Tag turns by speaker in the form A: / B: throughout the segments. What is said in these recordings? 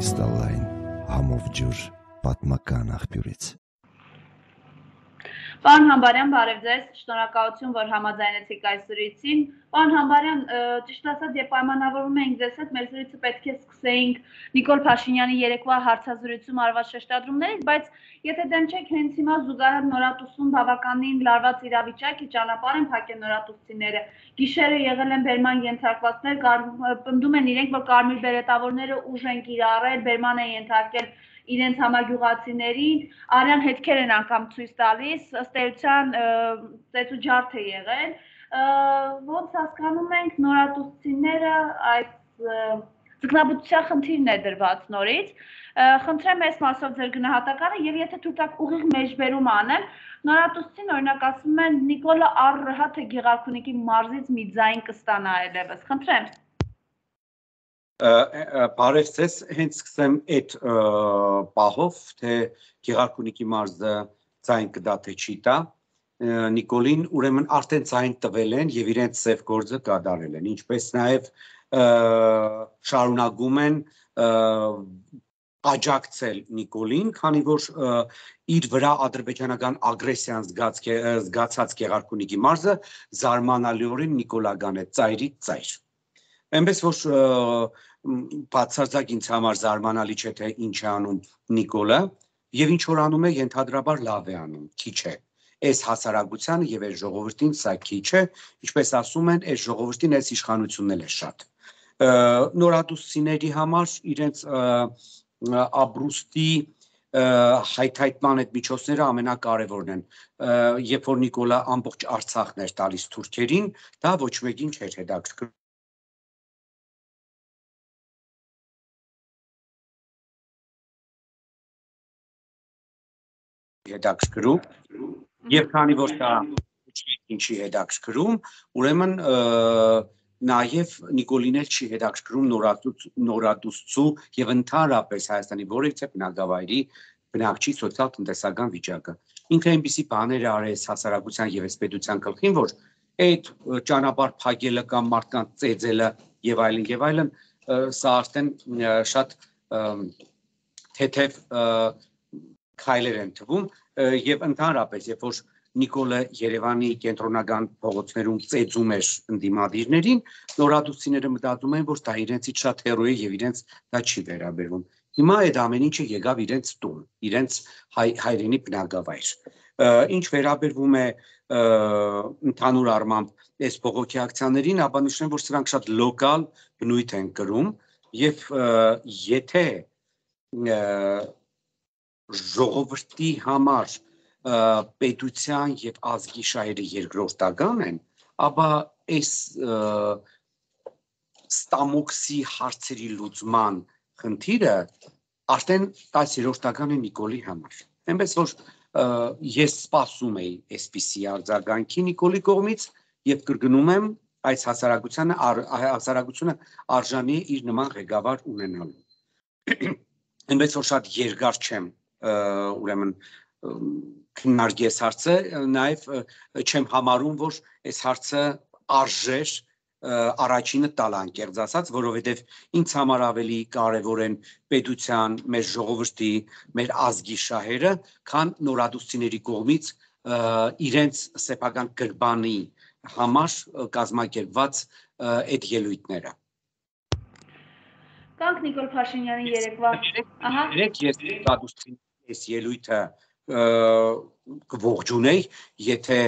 A: Կրիստալային համով ջուր պատմական աղբյուրից։
B: Պարոն Համբարյան, բարև ձեզ, շնորհակալություն, որ համաձայնեցիք այս զրույցին։ Պարոն Համբարյան, ճիշտ ասած, երբ պայմանավորվում էինք ձեզ հետ, մեր զրույցը պետք է սկսեինք Նիկոլ Փաշինյանի երեկվա հարցազրույցում արված շեշտադրումներից, բայց եթե դեմ չեք, հենց հիմա զուգահեռ նորատուսում բավականին լարված իրավիճակ է, ճանապարհ են փակել նորատուսցիները։ Գիշերը եղել են բերման ենթարկվածներ, պնդում են իրենք, որ կարմիր բերետավորները ուժ են կիրառել, բերման են ենթարկել իրենց համագյուղացիներին, արյան հետքեր են անգամ ցույց տալիս, ըստ էության ծեծու ջարդ է եղել, ոնց հասկանում ենք նորատուսցիները այս ձկնաբուծության խնդիրն է դրված նորից, խնդրեմ այս մասով ձեր գնահատականը եւ եթե թույլ տաք ուղիղ մեջբերում անեմ, նորատուսցին օրինակ ասում են Նիկոլը առհա թե Գեղարքունիքի մարզից մի ձայն կստանա այլևս, խնդրեմ։
C: Բարև ձեզ, հենց սկսեմ այդ պահով, թե Գեղարքունիքի մարզը ձայն կդա թե չի տա, Նիկոլին ուրեմն արդեն ձայն տվել են եւ իրենց սև գործը կատարել են, ինչպես նաեւ շարունակում են աջակցել Նիկոլին, քանի որ իր վրա ադրբեջանական ագրեսիան զգացած Գեղարքունիքի մարզը զարմանալիորեն նիկոլական է, ծայրից ծայր։ Այնպես որ բացարձակ ինձ համար զարմանալի չէ թե ինչ է անում Նիկոլը եւ ինչ որ անում է ենթադրաբար լավ է անում, քիչ է։ Այս հասարակությանը եւ այս ժողովրդին սա քիչ է, ինչպես ասում են, այս ժողովրդին այս իշխանությունն էլ է շատ։ Նորատուսցիների համար իրենց ապրուստի հայթայթման այդ միջոցները ամենակարևորն են։ Երբ որ Նիկոլը ամբողջ Արցախն էր տալիս թուրքերին, դա ոչ մեկին չէր հետաքրքրում։ Հետաքրքրում եւ քանի որ դա ինչի հետաքրքրում, ուրեմն նաեւ Նիկոլին էլ չի հետաքրքրում նորատուսցու եւ ընդհանրապես Հայաստանի որևիցե բնակավայրի բնակչի սոցիալ-տնտեսական վիճակը։ Ինքը այնպիսի բաներ արեց հասարակության եւ պետության գլխին, որ այդ ճանապարհ փակելը կամ մարդկանց ծեծելը եւ այլն, սա արդեն շատ թեթև քայլեր են թվում եւ ընդհանրապես երբ որ Նիկոլը Երևանի կենտրոնական փողոցներում ծեծում էր ընդդիմադիրներին, նորատուսցիները մտածում են, որ դա իրենցից շատ հեռու է եւ իրենց դա չի վերաբերվում։ Հիմա այդ ամեն ինչը եկավ իրենց տուն, իրենց հայրենի բնակավայր։ Ինչ վերաբերվում է ընդհանուր առմամբ այս բողոքի ակցիաներին, ապա նշեմ, որ սրանք շատ լոկալ բնույթ են կրում եւ եթե ժողովրդի համար պետության եւ ազգի շահերը երկրորդական են, ապա այս ստամոքսի հարցերի լուծման խնդիրը արդեն 10-րդական է Նիկոլի համար։ Այնպես որ ես սպասում էի այսպիսի արձագանքի Նիկոլի կողմից եւ կրկնում եմ, այս հասարակությունը արժանի է իր նման ղեկավար ունենալու։ Այնպես որ շատ երկար չեմ ուրեմն քննարկի այս հարցը, նաև չեմ համարում, որ այս հարցը արժեր առաջինը տալ անկեղծ ասած, որովհետև ինձ համար ավելի կարևոր են պետության, մեր ժողովրդի, մեր ազգի շահերը, քան նորադուսցիների կողմից իրենց սեփական գրբանի համար կազմակերպված այդ ելույթները։
B: Կանք Նիկոլ Փաշինյանի երեկվա
C: ես նորադուսցիների այս ելույթը կողջունեի, եթե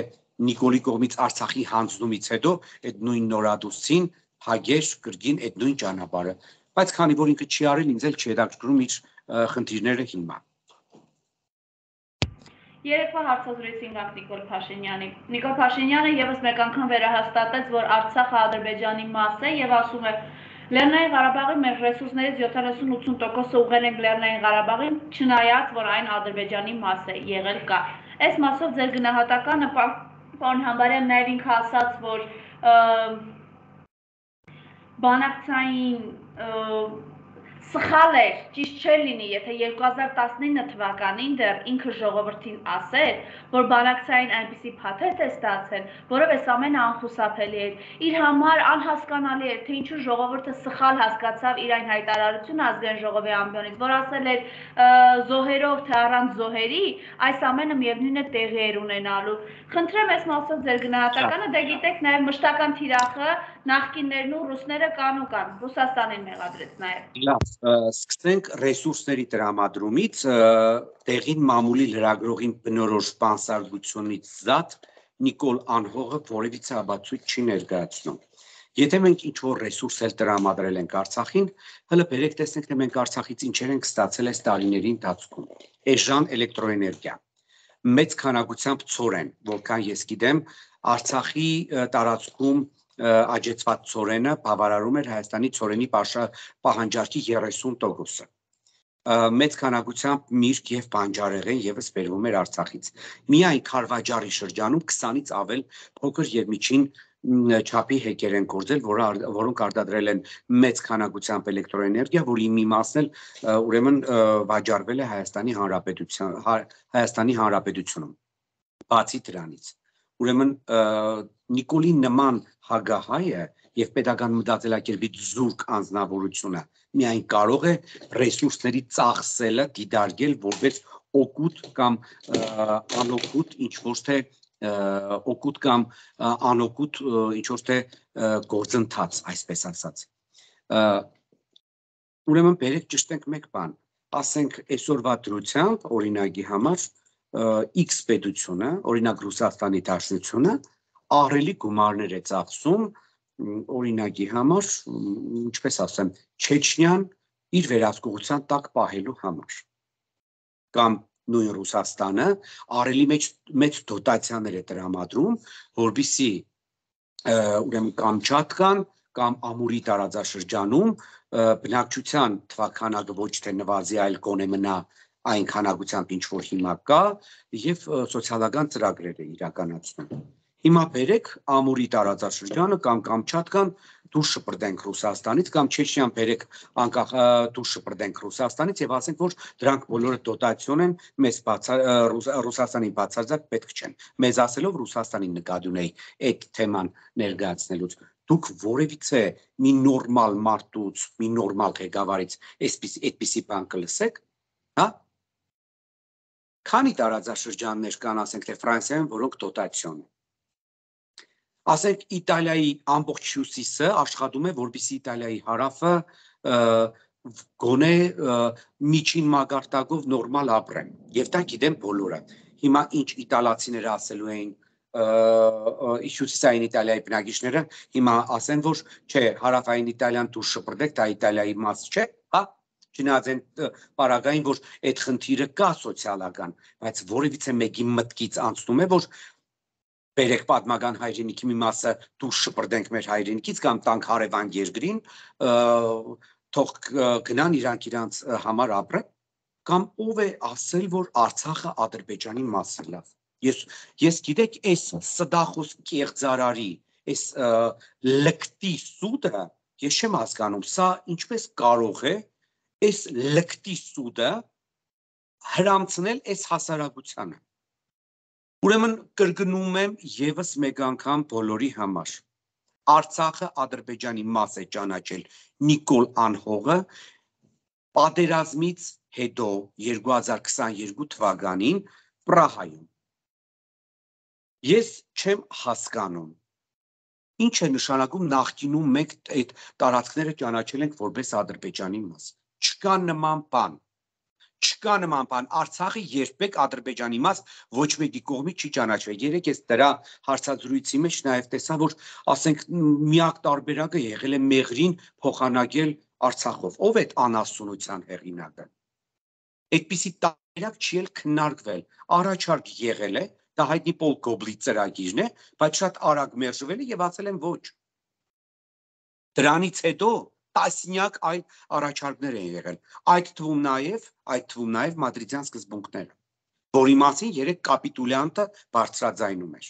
C: Նիկոլի կողմից Արցախի հանձնումից հետո այդ նույն նորադուսցին հագեր կրկին այդ նույն ճանապարհը, բայց քանի որ ինքը չի արել, ինձ էլ չի հետաքրքրում իր խնդիրները հիմա։
B: Երեկվա հարցազրույցին գանք Նիկոլ Փաշինյանի։ Նիկոլ Փաշինյանը եւս մեկ անգամ վերահաստատեց, որ Արցախը Ադրբեջանի մաս է եւ ասում է Լեռնային Ղարաբաղի մեր ռեսուրսներից 70-80%-ը ուղղել ենք Լեռնային Ղարաբաղին, չնայած որ այն Ադրբեջանի մաս է, եղել կա։ Այս մասով ձեր գնահատականը պարոն Համբարյան նաև ինքը ասաց, որ բանակցային Սխալ էր, ճիշտ չէր լինի, եթե 2019 թվականին դեռ ինքը ժողովրդին ասեր, որ բանակցային այնպիսի փաթեթ է ստացել, որով այս ամենը անխուսափելի էր։ Իր համար անհասկանալի էր, թե ինչու ժողովուրդը սխալ հասկացավ իր այն հայտարարությունը ազգային ժողովի ամբիոնից, որ ասել էր զոհերով թե առանց զոհերի, այս ամենը միևնույն է տեղի էր ունենալու։ Խնդրեմ ես մասով ձեր գնահատականը, դե գիտեք նաև մշտական թիրախը նախկիններն ու ռուսները կան ու կան, Ռուսաստանին մեղադրեց նաև։
C: Լավ, սկսենք ռեսուրսների տրամադրումից, տեղին մամուլի լրագրողին բնորոշ բանսարգությունից զատ Նիկոլ Անհողը որևիցե ապացույց չի ներկայացնում։ Եթե մենք ինչ-որ ռեսուրս էլ տրամադրել ենք Արցախին, հələ բերեք տեսնենք, թե մենք Արցախից ինչեր ենք ստացել այս տարիների ընթացքում։ Էժան էլեկտրոէներգիա, մեծ քանակությամբ ցորեն, որքան ես գիտեմ, Արցախի տարածքում աճեցված ցորենը բավարարում էր Հայաստանի ցորենի պահանջարկի 30%-ը։ Մեծ քանակությամբ միրգ եւ բանջարեղեն եւս բերվում էր Արցախից։ Միայն Քարվաճարի շրջանում 20-ից ավել փոքր եւ միջին չափի հեկեր են գործել, որոնք արտադրել են մեծ քանակությամբ էլեկտրոէներգիա, որի մի մասն էլ ուրեմն վաճառվել է Հայաստանի Հանրապետությունում։ Բացի դրանից, ուրեմն Նիկոլի նման հագահայը եւ պետական մտածելակերպի զուրկ անձնավորությունը միայն կարող է ռեսուրսների ծախսելը դիտարկել որպես օգուտ կամ անօգուտ ինչ-որ թե օգուտ կամ անօգուտ ինչ-որ թե գործընթաց, այսպես ասած։ Ուրեմն բերեք ճշտենք մեկ բան, ասենք այսօրվա դրությամբ օրինակի համար X պետությունը, օրինակ Ռուսաստանի Դաշնությունը, ահռելի գումարներ է ծախսում օրինակի համար, ինչպես ասեմ, Չեչնիան իր վերահսկողության տակ պահելու համար։ Կամ նույն Ռուսաստանը ահռելի մեծ դոտացիաներ է տրամադրում, որպեսզի ուրեմն Կամչատկան կամ Ամուրի տարածաշրջանում բնակչության թվաքանակը ոչ թե նվազի, այլ գոնե մնա այն քանակությամբ, ինչ որ հիմա կա, եւ սոցիալական ծրագրեր է իրականացնում։ Հիմա բերեք Ամուրի տարածաշրջանը կամ Կամչատկան դուրս շպրտենք Ռուսաստանից կամ Չեչնիան բերեք անկախ դուրս շպրտենք Ռուսաստանից եւ ասենք, որ դրանք բոլորը դոտացիոն են, մեզ Ռուսաստանի բացարձակ պետք չեն։ Մեզ ասելով Ռուսաստանի նկատի ունեի այդ թեման ներկայացնելուց։ Դուք որևիցե մի նորմալ մարդուց, մի նորմալ ղեկավարից այդպիսի բան կլսեք, հա? Քանի տարածաշրջաններ կան, ասենք թե Ֆրանսիայում, որոնք դոտացիոն են։ Ասենք Իտալիայի ամբողջ հյուսիսը աշխատում է, որպեսզի Իտալիայի հարավը գոնե միջին մակարդակով նորմալ ապրեն։ Եվ դա գիտեն բոլորը։ Հիմա ինչ իտալացիները ասելու էին հյուսիսային Իտալիայի բնակիչները, հիմա ասեն, որ չէ, հարավային Իտալիան դուրս շպրտեք, դա Իտալիայի մաս չէ, հա? Չնայած այն պարագային, որ այդ խնդիրը կա սոցիալական, բայց որևիցե մեկի մտքից անցնում է, որ բերեք պատմական հայրենիքի մի մասը դուրս շպրտենք մեր հայրենիքից կամ տանք հարևան երկրին, թող գնան իրանք համար ապրեն, կամ ով է ասել, որ Արցախը Ադրբեջանի մասն է, լավ։ Ես գիտեք, այս սդախոս կեղծարարի, այս լկտի սուդը, ես չեմ հասկանում, սա ինչպես կարող է այս լկտի սուդը հրամցնել այս հասարակությանը։ Ուրեմն կրկնում եմ եւս մեկ անգամ բոլորի համար։ Արցախը Ադրբեջանի մաս է ճանաչել Նիկոլ Անհողը պատերազմից հետո 2022 թվականին Պրահայում։ Ես չեմ հասկանում, ինչ է նշանակում նախկինում մենք այդ տարածքները ճանաչել ենք որպես Ադրբեջանի մաս։ Չկա նման բան։ Չկա նման բան, Արցախը երբեք Ադրբեջանի մաս ոչ մեկի կողմից չի ճանաչվել։ Երեք ես դրա հարցազրույցի մեջ նաև տեսա, որ ասենք միակ տարբերակը եղել է Մեղրին փոխանակել Արցախով։ Ով է այդ անասունության հեղինակը։ Այդպիսի տարբերակ չի էլ քննարկվել։ Առաջարկ եղել է, դա հայտնի Պոլ Գոբլի ծրագիրն է, բայց շատ արագ մերժվել է եւ ասել են ոչ։ Դրանից հետո տասնյակ այլ առաջարկներ են եղել, այդ թվում նաև մադրիդյան սկզբունքները, որի մասին երեք կապիտուլյանտը բարձրաձայնում էր։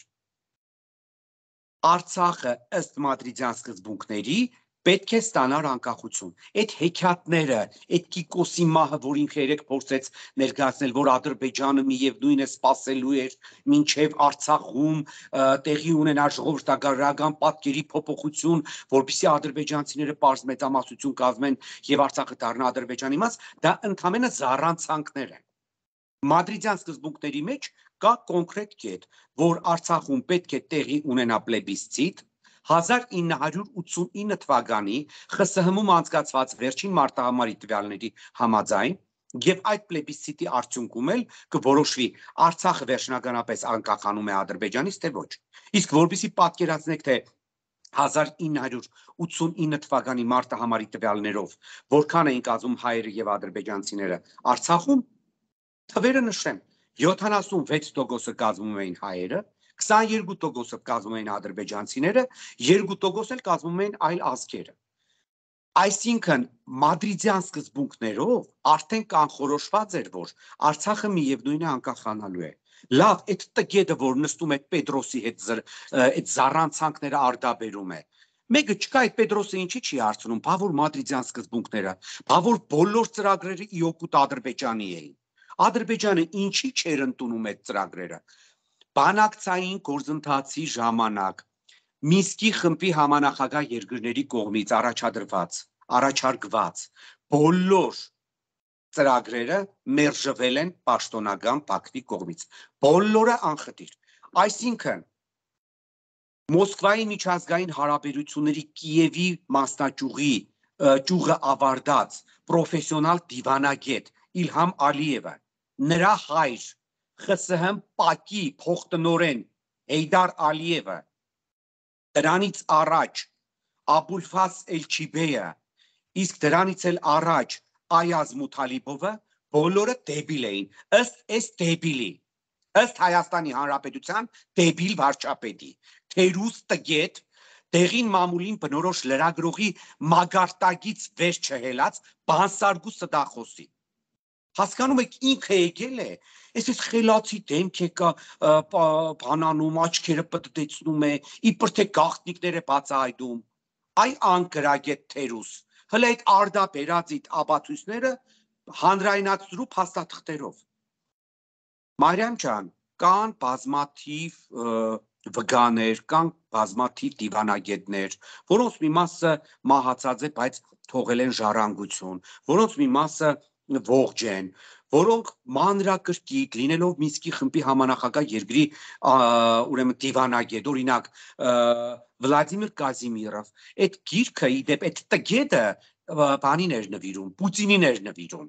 C: Արցախը ըստ մադրիդյան սկզբունքների պետք է ստանար անկախություն։ Այդ հեքիաթները, այդ Կիկոսի մահը, որ ինքը երեք փորձեց ներկայացնել, որ Ադրբեջանը միևնույն է սпасելու էր մինչև Արցախում տեղի ունենար ժողովրդական պատկերի փոփոխություն, որպեսզի ադրբեջանցիները պարզ մեծամասնություն կազմեն եւ Արցախը դառնա Ադրբեջանի մաս, դա ընդհանրապես զառանցանքներ են։ Մադրիդյան սկզբունքների մեջ կա կոնկրետ կետ, որ Արցախում պետք է տեղի ունենա պլեբիսցիտ 1989 թվականի ԽՍՀՄ-ում անցկացված վերջին մարտահամարի տվյալների համաձայն եւ այդ պլեբիսցիտի արդյունքում էլ կորոշվի Արցախը վերջնականապես անկախանում է Ադրբեջանից թե ոչ։ Իսկ որպեսզի պատկերացնեք թե 1989 թվականի մարտահամարի տվյալներով որքան էին կազմում հայերը եւ ադրբեջանցիները Արցախում, թվերը նշեմ, 76% կազմում էին հայերը, 22% կազմում էին ադրբեջանցիները, 2% էլ կազմում էին այլ ազգերը։ Այսինքն մադրիդյան սկզբունքներով արդեն կանխորոշված էր, որ Արցախը միևնույն է անկախանալու է։ Լավ, այդ տգետը, որ նստում է Պետրոսի հետ այդ զառանցանքները արդաբերում է։ Մեկը չկա, այդ Պետրոսը ինչի չի հարցնում, բա որ մադրիդյան սկզբունքները, բա որ բոլոր ծրագրերը ի օգուտ Ադրբեջանի էին։ Ադրբեջանը ինչի չէր ընդունում այդ ծրագրերը։ Բանակցային գործընթացի ժամանակ Մինսկի խմբի համանախագահ երկրների կողմից առաջարկված բոլոր ծրագրերը մերժվել են պաշտոնական Բաքվի կողմից։ Բոլորը անխտիր։ Այսինքն Մոսկվայի միջազգային հարաբերությունների Կիևի մասնաճյուղի ճյուղը ավարտած պրոֆեսիոնալ դիվանագետ Իլհամ Ալիևը, նրա հայր ԽՍՀՄ ՊԱԿ-ի փոխտնօրեն Հեյդար Ալիևը, դրանից առաջ Աբուլֆազ Էլչիբեյը, իսկ դրանից էլ առաջ Այազ Մութալիբովը բոլորը դեբիլ էին, ըստ դեբիլի, ըստ Հայաստանի Հանրապետության դեբիլ վարչապետի, թերուս տգետ, դեղին մամուլին բնորոշ լրագրողի մագարտակից վեր չհելած բանսարգու ստախոսի։ Հասկանում եք, ինքը եկել է, այսպես խելացի դեմք է կա բանանում, աչքերը պտտեցնում է, իբր թե գաղտնիքներ է բացահայտում։ Այ անկրագետ թերուս, հələ այդ արդաբերածիտ ապացույցները հանրայնացրու փաստաթղթերով։ Մարիամ ջան, կան բազմաթիվ վգաներ, կան բազմաթիվ դիվանագետներ, որոնց մի մասը մահացած է, բայց թողել են ժառանգություն, որոնց մի մասը ողջ են, որոնք մանրակրկիտ լինելով Մինսկի խմբի համանախագահ երկրի ուրեմն դիվանագետ, օրինակ Վլադիմիր Կազիմիրով, այդ գիրքը իդեպ այդ տգետը բանին էր նվիրում, Պուտինին էր նվիրում,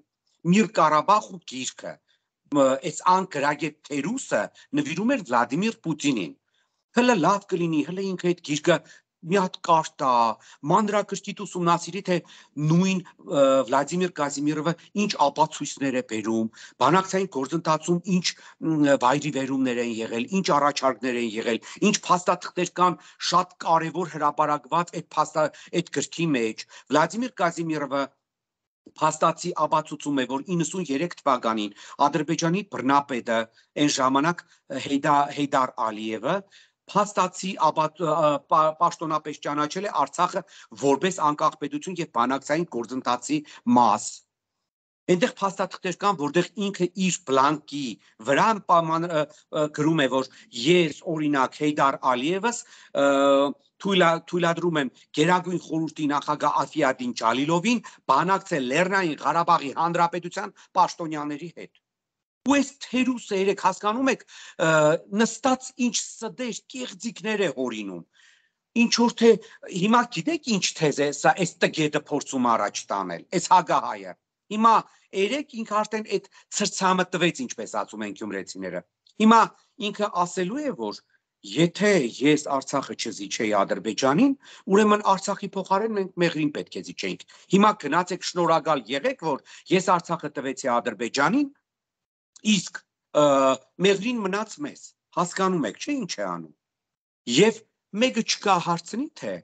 C: Միր Ղարաբաղու գիրքը, այս անկրագետ թերուսը նվիրում էր Վլադիմիր Պուտինին։ Հələ լավ կլինի, հələ ինքը այդ գիրքը մի հատ կարտա, մանրակրկիտ ուսումնասիրի, թե նույն Վլադիմիր Կազիմիրովը ինչ ապացույցներ է բերում, բանակցային գործընթացում ինչ վայրիվերումներ են եղել, ինչ առաջարկներ են եղել, ինչ փաստաթղթեր կան շատ կարևոր հրապարակված այդ գրքի մեջ։ Վլադիմիր Կազիմիրովը փաստացի ապացուցում է, որ 93 թվականին Ադրբեջանի բռնապետը այն ժամանակ Հեյդար Ալիևը փաստացի պաշտոնապես ճանաչել է Արցախը որպես անկախ պետություն եւ բանակցային գործընթացի մաս։ Այնտեղ փաստաթղթեր կան, որտեղ ինքը իր բլանկի վրա գրում է, որ ես օրինակ Հեյդար Ալիևս թույլատրում եմ Գերագույն խորհրդի նախագահ Աֆիադին Ջալիլովին բանակցել Լեռնային Ղարաբաղի Հանրապետության պաշտոնյաների հետ։ Ու այս թերուսը երեք հասկանում եք նստած ինչ սդեր կեղծիկներ է հորինում։ Ինչ որ թե հիմա գիտեք ինչ թեզ է սա այս տգետը փորձում առաջ տանել, այս հագահայը։ Հիմա երեք ինքը արդեն այդ ցրցամը տվեց, ինչպես ասում են գյումրեցիները։ Հիմա ինքը ասելու է, որ եթե ես Արցախը չզիջեի Ադրբեջանին, ուրեմն Արցախի փոխարեն մենք Մեղրին պետք է զիջեինք։ Հիմա գնացեք շնորհակալ եղեք, որ ես Արցախը տվեցի Ադրբեջանին, իսկ Մեղրին մնաց մեզ։ Հասկանում եք, չէ՞ ինչ է անում։ Եվ մեկը չկա հարցնի թե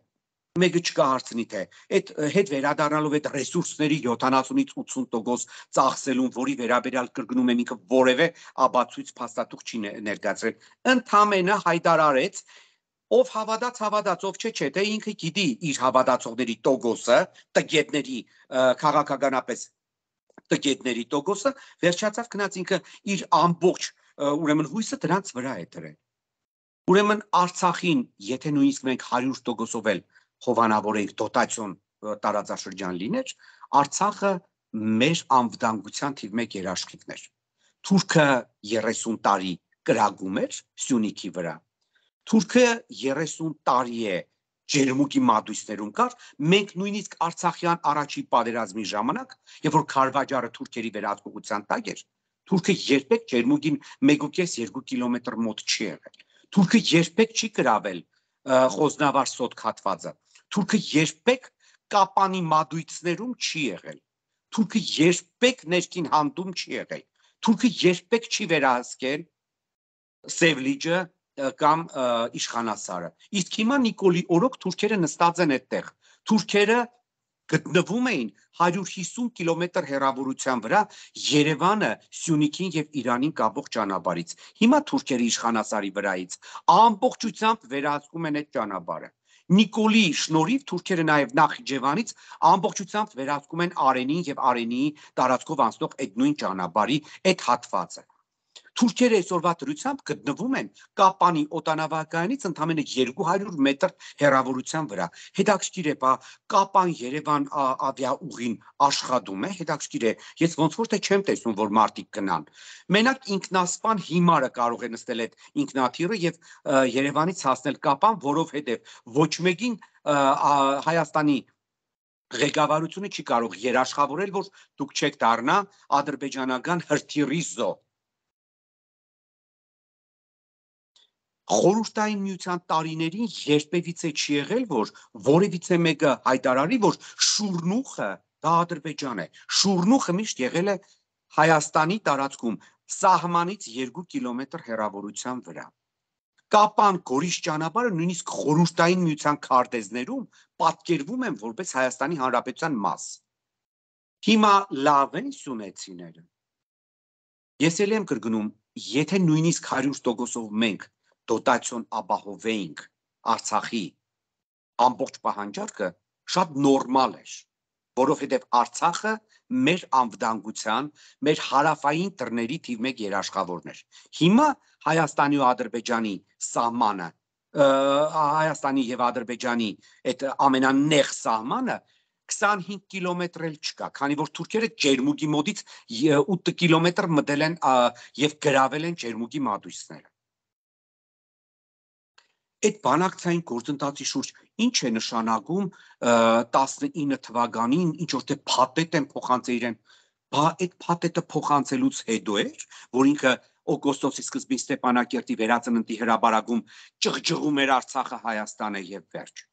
C: այդ հետ վերադառնալով այդ ռեսուրսների 70-ից 80% ծախսելուն, որի վերաբերյալ կրկնում եմ ինքը որևէ ապացույց փաստաթուղթ չի ներկայացրել, ընդամենը հայտարարեց ով հավատաց, ով չէ, թե ինքը գիտի իր հավատացողների տոկոսը, տգետների քաղաքականապես տգետների տոկոսը, վերջացավ գնաց ինքը իր ամբողջ ուրեմն հույսը դրանց վրա է դրել։ Ուրեմն Արցախին, եթե նույնիսկ մենք 100%-ով էլ հովանավորենք դոտացիոն տարածաշրջան լիներ, Արցախը մեր անվտանգության թիվ 1 երաշխիքն էր։ Թուրքը 30 տարի կրակում էր Սյունիքի վրա։ Թուրքը 30 տարի է ջերմուկի մատույցներում կար, մենք նույնիսկ Արցախյան առաջի պատերազմի ժամանակ, երբ որ Քարվաճարը թուրքերի վերահսկողության տակ էր, թուրքը երբեք ջերմուկին 1.5-2 կիլոմետր մոտ չի եղել։ Թուրքը երբեք չի գրավել Խոզնավար սոտ քաթվածը։ Թուրքը երբեք Կապանի մատույցներում չի եղել։ Թուրքը երբեք ներքին հանդում չի եղել։ Թուրքը երբեք չի վերահսկել Սևլիջը կամ Իշխանասարը։ Իսկ հիմա Նիկոլի օրոք թուրքերը նստած են այդտեղ։ Թուրքերը գտնվում էին 150 կիլոմետր հեռավորության վրա Երևանը, Սյունիքին եւ Իրանին կապող ճանապարհից։ Հիմա թուրքերը Իշխանասարի վրայից ամբողջությամբ վերահսկում են այդ ճանապարհը։ Նիկոլի շնորհիվ թուրքերը նաև Նախիջևանից ամբողջությամբ վերահսկում են Արենին եւ Արենիի տարածքով անցնող այդ նույն ճանապարհի այդ հատվածը։ Թուրքերը այսօրվա դրությամբ գտնվում են Կապանի օտանավակայանից ընդամենը 200 մետր հեռավորության վրա։ Հետաքրքիր է, բա Կապան-Երևան ավիաուղին աշխատում է, հետաքրքիր է, ես ոնց որ թե չեմ տեսնում, որ մարդիկ գնան։ Մենակ ինքնասպան հիմարը կարող է նստել այդ ինքնաթիռը եւ Երևանից հասնել Կապան, որովհետեւ ոչ մեկին Հայաստանի ղեկավարությունը չի կարող երաշխավորել, որ դուք չեք դառնա ադրբեջանական հրթիռի զոհ։ Խորհրդային միության տարիներին երբևիցե չի եղել, որ որևիցե մեկը հայտարարի, որ Շուրնուխը դա Ադրբեջան է։ Շուրնուխը միշտ եղել է Հայաստանի տարածքում սահմանից 2 կիլոմետր հեռավորության վրա։ Կապան Գորիս ճանապարհը նույնիսկ խորհրդային միության քարտեզներում պատկերվում են որպես Հայաստանի Հանրապետության մաս։ Հիմա լավ են սյունեցիները։ Ես էլ եմ կրկնում, եթե նույնիսկ 100%-ով մենք դոտացիոն ապահովեինք Արցախի ամբողջ պահանջարկը, շատ նորմալ էր, որովհետև Արցախը մեր անվտանգության, մեր հարավային դռների թիվ 1 երաշխավորն էր։ Հիմա Հայաստանի ու Ադրբեջանի սահմանը, Հայաստանի եւ Ադրբեջանի այդ ամենանեղ սահմանը 25 կիլոմետր էլ չկա, քանի որ թուրքերը ջերմուկի մոտից 8 կիլոմետր մտել են եւ գրավել են ջերմուկի մատույցները։ Այդ բանակցային գործընթացի շուրջ ինչ է նշանակում 19 թվականին ինչ որ թե փաթեթ են փոխանցել իրեն, բա այդ փաթեթը փոխանցելուց հետո էր, որ ինքը օգոստոսի սկզբին Ստեփանակերտի վերածննդի հրապարակում ճղճղում էր Արցախը Հայաստանը եւ վերջ։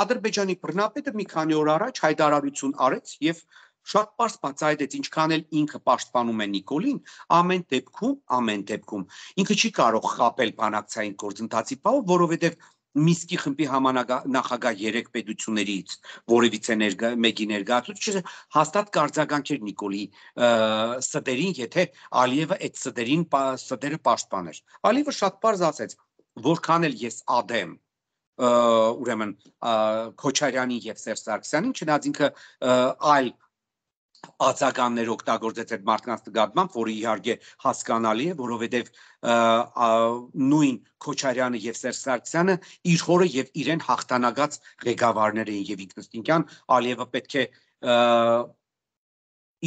C: Ադրբեջանի բռնապետը մի քանի օր առաջ հայտարարություն արեց եւ շատ պարզ բացահայտեց, ինչքան էլ ինքը պաշտպանում է Նիկոլին, ամեն դեպքում ինքը չի կարող խաբել բանակցային գործընթացի բաղ, որովհետեւ Միսկի խմբի համանախագահ 3 պետություններից որևիցե մեկի ներկայացուցիչը հաստատ կարձագանքեր Նիկոլի սդերին, եթե Ալիևը այդ սդերը պաշտպաներ։ Ալիևը շատ պարզ ասեց, որքան էլ ես ադեմ ուրեմն Քոչարյանի եւ Սերժ Սարգսյանին, չնայած ինքը այլ ածականներ օգտագործեց այդ մարդկանց նկատմամբ, որը իհարկե հասկանալի է, որովհետև նույն Քոչարյանը եւ Սերժ Սարգսյանը իր հորը եւ իրեն հաղթանակած ղեկավարներ էին եւ ինքնըստինքյան Ալիևը պետք է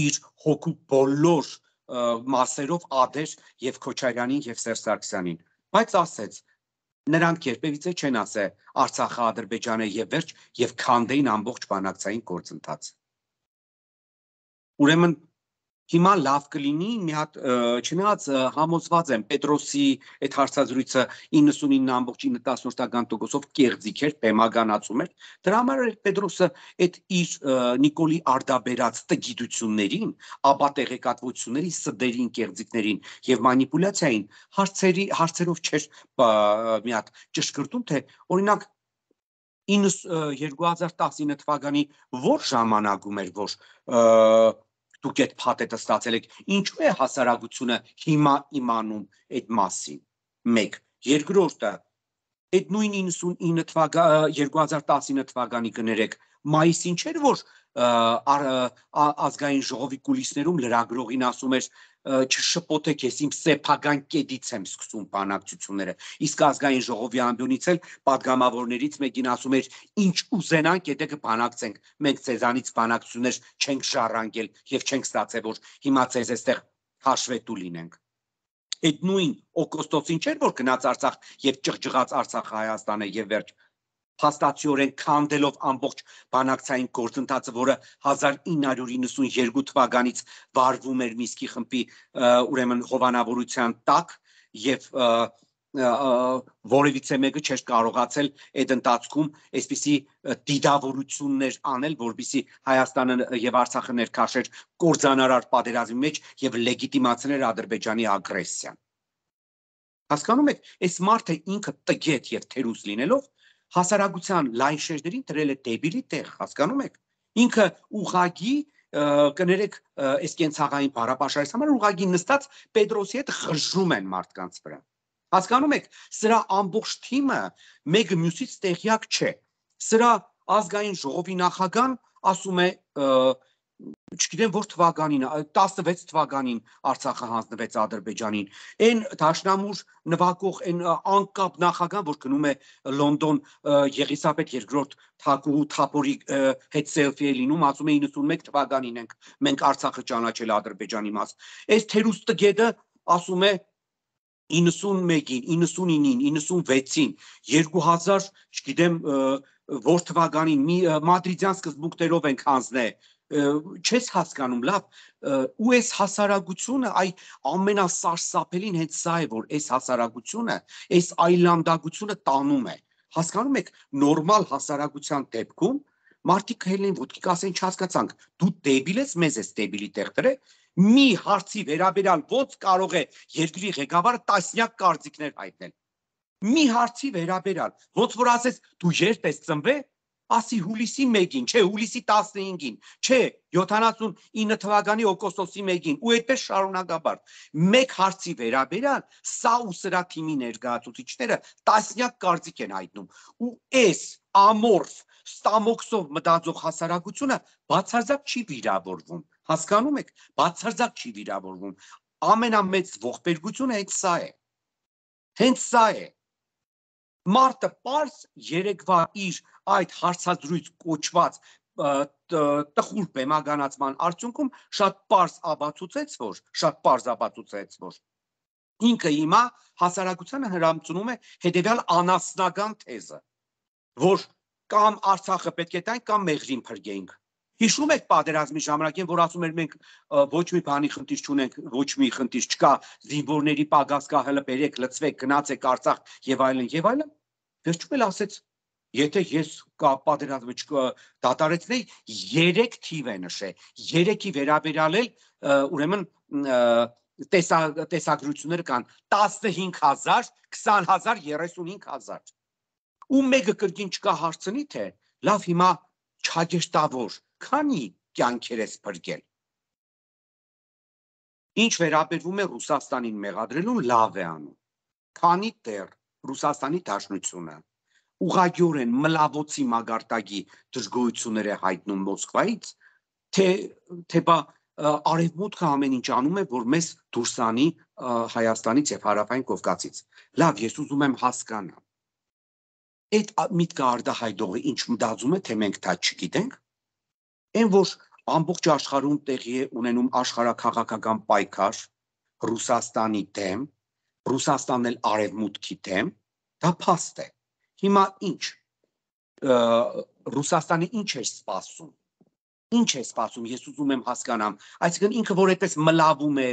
C: իր հոգու բոլոր մասերով ադեր եւ Քոչարյանին եւ Սերժ Սարգսյանին, բայց ասեց նրանք երբևիցե չեն ասել Արցախը Ադրբեջանը եւ վերջ եւ քանդեին ամբողջ բանակցային գործընթացը։ Ուրեմն հիմա լավ կլինի մի հատ չնայած համոզված եմ Պետրոսի այդ հարցազրույցը 99.9% կեղծիք էր, բեմականացում էր, դրա համար էր Պետրոսը այդ իր Նիկոլի արդաբերած տգիտություններին, ապա տեղեկատվությունների սդերին, կեղծիքներին եւ մանիպուլյացիային հարցերով չէր մի հատ ճշգրտում, թե օրինակ 2019 թվականի որ ժամանակում էր, որ դուք այդ փաթեթը ստացել եք, ինչու է հասարակությունը հիմա իմանում այդ մասին։ 1. Երկրորդը Այդ նույն 99 2019 թվականի կներեք մայիսին չէր որ ազգային ժողովի կուլիսներում լրագրողին ասում էր չշփոթեք ես իմ սեփական կետից եմ սկսում բանակցությունները իսկ ազգային ժողովի ամբյոնից էլ падգամավորներից մեկին ասում էր ինչ ուզենանք եթե կբանակցենք մենք ցեզանից բանակցություններ չենք շարանգել եւ չենք ստացել որ հիմա ցեզ այստեղ հաշվետու լինենք Այդ նույն օգոստոսին չէր որ գնաց Արցախ եւ ճղճղաց Արցախը Հայաստանը եւ վերջ փաստացիորեն քանդելով ամբողջ բանակցային գործընթացը որը 1992 թվականից վարվում էր Միսկի խմբի ուրեմն հովանավորության տակ եւ որևիցե մեկը չէր կարողացել այդ ընթացքում այսպիսի դիդավորություններ անել որբիսի Հայաստանը եւ Արցախը ներքաշեր կորձանարար պատերազմի մեջ եւ լեգիտիմացներ Ադրբեջանի ագրեսիան Հասկանում եք այս մարդը ինքը տգետ եւ թերուս լինելով հասարակության լայն շերտերին դրել է դեբիլի տեղ հասկանում եք ինքը ուղագի կներեք այս կենցաղային բարապաշարից համար ուղագի նստած Պետրոսի հետ խժում են մարդկանց վրա Հասկանում եք, սրա ամբողջ թիմը մեկը մյուսից տեղյակ չէ։ Սրա ազգային ժողովի նախագահան ասում է, չգիտեմ որ թվականին, 16 թվականին Արցախը հանձնվեց Ադրբեջանին։ Այն դաշնամուր նվագող այն անկապ նախագահան, որ գնում է Լոնդոն Եղիսաբեթ II Թափորի հետ սելֆի է լինում, ասում է 91 թվականին ենք մենք Արցախը ճանաչել Ադրբեջանի մաս։ Այս թերուս տգետը ասում է 91-ին, 99-ին, 96-ին, 2000, չգիտեմ, որ թվականին մադրիդյան սկզբունքներով ենք հանձնել, չես հասկանում, լավ, ու այս հասարակությունը, այ ամենասարսափելին հենց սա է, որ այս հասարակությունը, այս այլանդակությունը տանում է, հասկանում եք, նորմալ հասարակության դեպքում, մարդիկ հելին ոտքի կասեն չհասկացանք, դու դեբիլ ես, մեզ ես դեբիլի տեղ դրել, մի հարցի վերաբերյալ ոնց կարող է երկրի ղեկավարը տասնյակ կարծիքներ հայտնել։ Մի հարցի վերաբերյալ, ոնց որ ասես դու երբ ես ծնվել, ասի հուլիսի 1-ին, չէ, հուլիսի 15-ին, չէ, 79 թվականի օգոստոսի 1-ին, ու այդպես շարունակաբար։ Մեկ հարցի վերաբերյալ սա ու սրա թիմի ներկայացուցիչները տասնյակ կարծիք են հայտնում։ Ու այս ամորֆ ստամոքսով մտածող հասարակությունը բացարձակ չի վիրավորվում։ Հասկանում եք, բացարձակ չի վիրավորվում։ Ամենամեծ ողբերգությունը հենց սա է։ Հենց սա է։ Մարտը պարզ երեկվա իր այդ հարցազրույց կոչված տխուր բեմականացման արդյունքում շատ պարզ ապացուցեց, որ ինքը հիմա հասարակությանը հրամցնում է հետևյալ անասնական թեզը, որ կամ Արցախը պետք է տանք կամ Մեղրին փրկենք։ Հիշում եք պատերազմի ժամանակ որ ասում էր մենք ոչ մի բանի խնդիր չունենք, ոչ մի խնդիր չկա, զինվորների պակաս կա, հələ բերեք, լցվեք, գնացեք Արցախ եւ այլն եւ այլն։ Վերջում էլ ասեց, եթե ես պատերազմը դադարեցնեի, 3 թիվ է նշել, 3-ի վերաբերյալ էլ ուրեմն տեսագրությունները կան 15000, 20000, 35000։ Ու մեկը կրկին չկա հարցնի թե լավ հիմա չագեշտավոր քանի կյանքեր ես փրկել։ Ինչ վերաբերվում է Ռուսաստանին մեղադրելուն լավ է անում։ Քանի դեռ Ռուսաստանի Դաշնությունը ուղղակիորեն մլավոցի մագարտակի դժգոհություններ է հայտնում Մոսկվայից, թե բա արևմուտքը ամեն ինչ անում է, որ մեզ դուրս անի Հայաստանից եւ Հարավային Կովկասից։ Լավ, ես ուզում եմ հասկանալ։ Այդ միտքը արդահայտողը ինչ մտածում է, թե մենք դա չգիտենք։ Այն որ ամբողջ աշխարհում տեղի է ունենում աշխարհաքաղաքական պայքար Ռուսաստանի դեմ, Ռուսաստանն էլ արևմուտքի դեմ, դա փաստ է։ Հիմա ինչ Ռուսաստանը ինչ է սպասում։ Ինչ է սպասում, ես ուզում եմ հասկանամ, այսինքն ինքը որ այդպես մլավում է,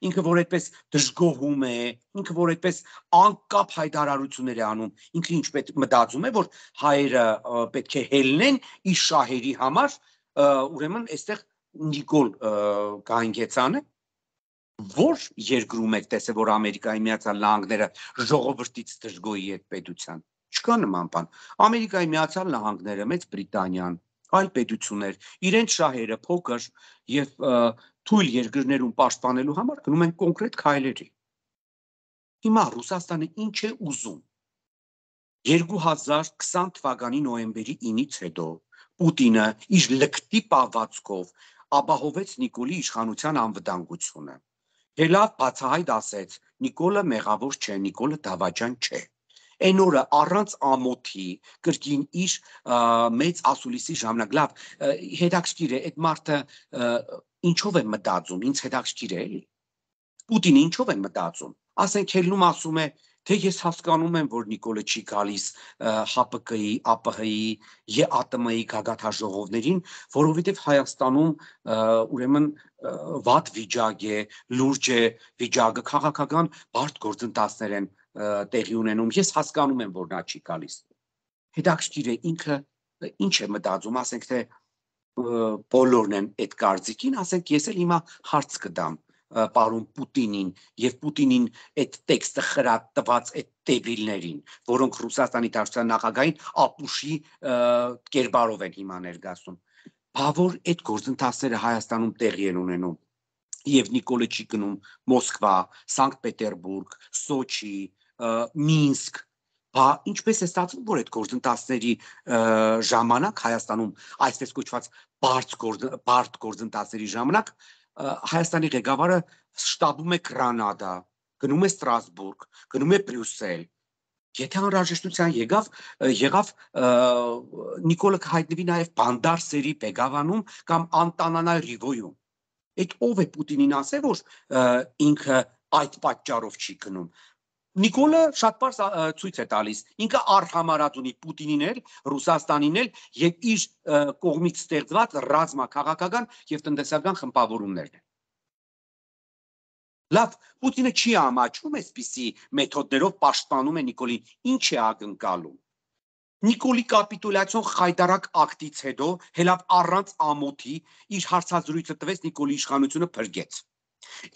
C: ինքը որ այդպես դժգոհում է, ինքը որ այդպես անկապ հայտարարություններ է անում, ինքը ինչ պետք մտածում է, որ հայերը պետք է հելնեն իր շահերի համար, ուրեմն այստեղ Նիկոլ Գայնգեցանը, որ երկրում եք տեսել, որ Ամերիկայի Միացյալ Նահանգները ժողովրդից դժգոհի այդ պետության, չկա նման բան, Ամերիկայի Միացյալ Նահանգները, Մեծ Բրիտանիան, այլ պետություններ, իրենց շահերը փոքր եւ թույլ երկրներում պաշտպանելու համար գնում են կոնկրետ քայլերի։ Հիմա Ռուսաստանը ինչ է ուզում։ 2020 թվականի նոյեմբերի 9-ից հետո Պուտինը իր լկտի պահվածքով ապահովեց Նիկոլի իշխանության անվտանգությունը։ Հելավ բացահայտ ասեց, Նիկոլը մեղավոր չէ, Նիկոլը դավաճան չէ։ Այն օրը առանց ամոթի կրկին իր մեծ ասուլիսի ժամանակ լավ հետաքրքիր է այդ մարդը ինչով է մտածում, ինձ հետաքրքիր է էլի։ Պուտինը ինչով է մտածում։ Ասենք Հելնում ասում է, թե ես հասկանում եմ, որ Նիկոլը չի գալիս ՀՊԿ-ի, ԱՊՀ-ի, ԵԱՏՄ-ի գագաթաժողովներին, որովհետև Հայաստանում ուրեմն վատ վիճակ է, լուրջ է վիճակը, քաղաքական բարդ գործընթացներ են տեղի ունենում։ Ես հասկանում եմ, որ նա չի գալիս։ Հետաքրքիր է ինքը ինչ է մտածում, ասենք թե բոլորն են այդ կարծիքին, ասենք ես էլ հիմա հարց կտամ պարոն Պուտինին եւ Պուտինին այդ տեքստը խրատված այդ դեբիլներին, որոնք Ռուսաստանի Դաշնության նախագահային ապուշի կերպարով են հիմա ներկայացնում։ Բավոր այդ գործընթացները Հայաստանում տեղի են ունենում եւ Նիկոլը չի գնում Մոսկվա, Սանկտ Պետերբուրգ, Սոչի, Մինսկ։ Բա ինչպես է ստացվում, որ այդ գործընթացների ժամանակ Հայաստանում այսպես կոչված բարդ գործընթացների ժամանակ Հայաստանի ղեկավարը շտաբում է Գրանադա, գնում է Ստրասբուրգ, գնում է Բրյուսել։ Եթե անհրաժեշտության եղավ Նիկոլը կհայտնվի նաև Բանդարսերի Բեգավանում կամ Անտանանա Ռիվոյում։ Այդ ով է Պուտինին ասել, որ ինքը այդ պատճառով չի գնում։ Նիկոլը շատ պարզ ցույց է տալիս, ինքը արհամարած ունի Պուտինին էլ, Ռուսաստանին էլ եւ իր կողմից ստեղծված ռազմաքաղաքական եւ տնտեսական խմբավորումներն են։ Լավ, Պուտինը չի ամաչում այսպիսի մեթոդներով պաշտպանում է Նիկոլին, ինչ է ակնկալում։ Նիկոլի կապիտուլյացիոն խայտարակ ակտից հետո հելավ առանց ամոթի իր հարցազրույցը տվեց Նիկոլի իշխանությունը փրկեց։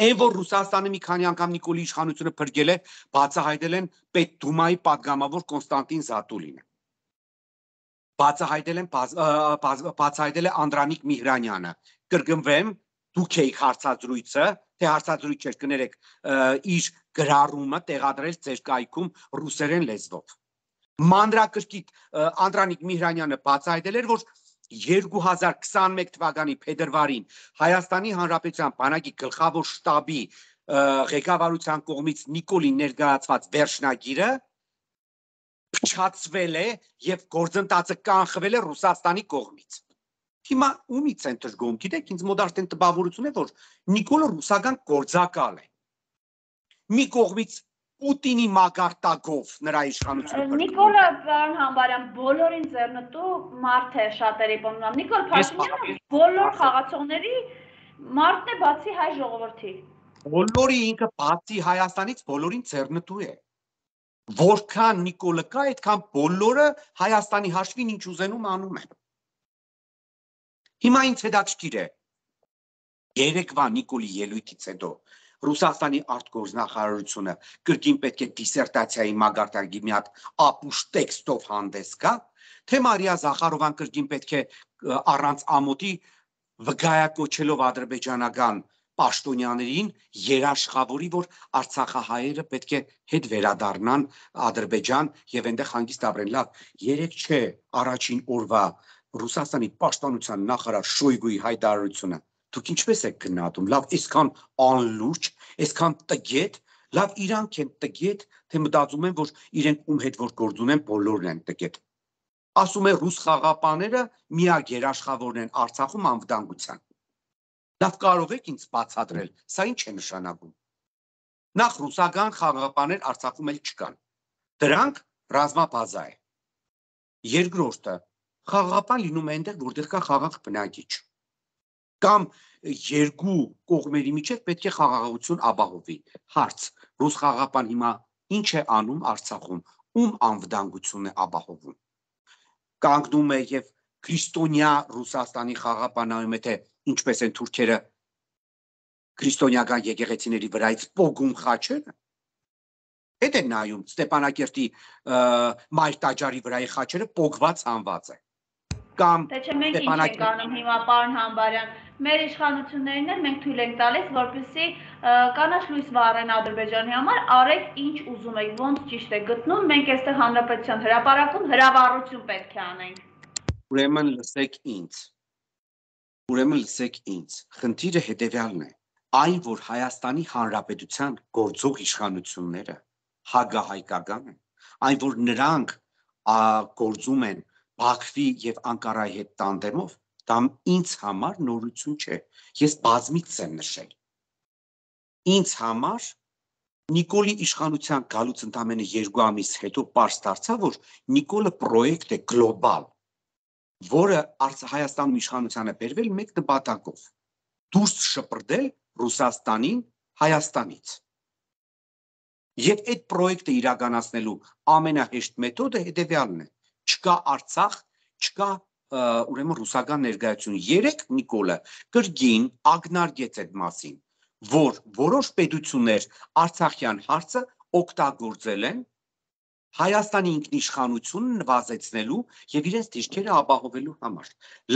C: Այն որ Ռուսաստանը մի քանի անգամ Նիկոլի իշխանությունը փրկել է, բացահայտել են Պետդումայի падգամավոր Կոնստանտին Զատուլինը։ Բացահայտել է Անդրանիկ Միհրանյանը։ Կրկնվեմ, դուք եք հարցազրույցը, թե հարցազրույց չէր կներեք, իր գրառումը տեղադրել ձեր կայքում ռուսերեն լեզվով։ Մանրակրկիտ Անդրանիկ Միհրանյանը բացահայտել էր, որ 2021 թվականի փետրվարին Հայաստանի Հանրապետության բանակի գլխավոր շտաբի ղեկավարության կողմից Նիկոլին ներկայացված վերջնագիրը փչացվել է եւ գործընթացը կանխվել է Ռուսաստանի կողմից։ Հիմա ումից են դժգոհում, գիտեք, ինձ մոտ արդեն տպավորություն է, որ Նիկոլը ռուսական գործակալ է։ Մի կողմից Պուտինի մագարտակով նրա իշխանությունը։
B: Նիկոլը պարոն Համբարյան բոլորին ձեռնտու մարդ է շատերի բանալու։ Նիկոլ Փաշինյանը բոլոր խաղացողների մարդն է բացի հայ ժողովրդի։
C: Բոլորի ինքը բացի Հայաստանից բոլորին ձեռնտու է։ Որքան Նիկոլը կա, այդքան բոլորը Հայաստանի հաշվին ինչ ուզենում անում են։ Հիմա ինձ հետաքրքիր է երեկվա Նիկոլի ելույթից հետո Ռուսաստանի արտգործնախարարությունը կրկին պետք է դիսերտացիայի մագարտակի մի հատ ապուշ տեքստով հանդես գա, թե Մարիա Զախարովան կրկին պետք է առանց ամոթի վգայակոչելով ադրբեջանական պաշտոնյաներին երաշխավորի, որ արցախահայերը պետք է հետ վերադառնան Ադրբեջան եւ այնտեղ հանգիստ ապրեն։ Լավ, երեք չէ առաջին օրվա Ռուսաստանի պաշտպանության նախարար Շոյգուի հայտարարությունը դուք ինչպես եք գնահատում։ Լավ, այսքան անլուրջ, այսքան տգետ, լավ իրանք են տգետ, թե մտածում են, որ իրենք ում հետ որ գործ ունեն, բոլորն են տգետ։ Ասում է ռուս խաղապաները միակ երաշխավորն են Արցախում անվտանգության։ Լավ, կարող եք ինձ բացատրել, սա ինչ է նշանակում։ Նախ ռուսական խաղապաներ Արցախում էլ չկան։ Դրանք ռազմաբազա է։ Երկրորդը, խաղապան լինում է այնտեղ, որտեղ կա խաղաղ բնակիչ։ Կամ երկու կողմերի միջև պետք է խաղաղություն ապահովի։ Հարց. ռուս խաղապան հիմա ինչ է անում Արցախում, ում անվտանգությունն է ապահովում։ Կանգնում է եւ քրիստոնյա Ռուսաստանի խաղապանայում է, թե ինչպես են թուրքերը քրիստոնյական եկեղեցիների վրայից պոգում խաչերը։ Հետ է նայում Ստեփանակերտի Մայր տաճարի վրայի խաչերը պոգված հանված է։ Կամ
B: Թե չէ մենք ինչ ենք անում հիմա պարոն Համբարյան, մեր իշխանություններին էլ մենք թույլ ենք տալիս, որպեսզի կանաչ լույս վառեն Ադրբեջանի համար, արեք ինչ ուզում եք, ոնց ճիշտ է գտնում, մենք այստեղ հանրապետության հրապարակում հրավառություն պետք է անենք։
C: Ուրեմն լսեք ինձ, խնդիրը հետևյալն է, այն որ Հայաստանի Հանրապետության գործող իշխանությունները հագահայկական են, այն որ նրանք գործում են Բաքվի եւ Անկարայի հետ տանդեմով, դա ինձ համար նորություն չէ, ես բազմիցս եմ նշել։ Ինձ համար Նիկոլի իշխանության գալուց ընդամենը 2 ամիս հետո պարզ դարձավ, որ Նիկոլը պրոյեկտ է գլոբալ, որը Հայաստանում իշխանության է բերվել մեկ նպատակով՝ դուրս շպրտել Ռուսաստանին Հայաստանից։ Եվ այդ պրոյեկտը իրականացնելու ամենահեշտ մեթոդը հետևյալն է. չկա Արցախ, չկա ուրեմն ռուսական ներկայություն։ Երեք Նիկոլը կրկին ակնարկեց այդ մասին, որ որոշ պետություններ Արցախյան հարցը օգտագործել են Հայաստանի ինքնիշխանությունը նվազեցնելու եւ իրենց դիրքերը ապահովելու համար։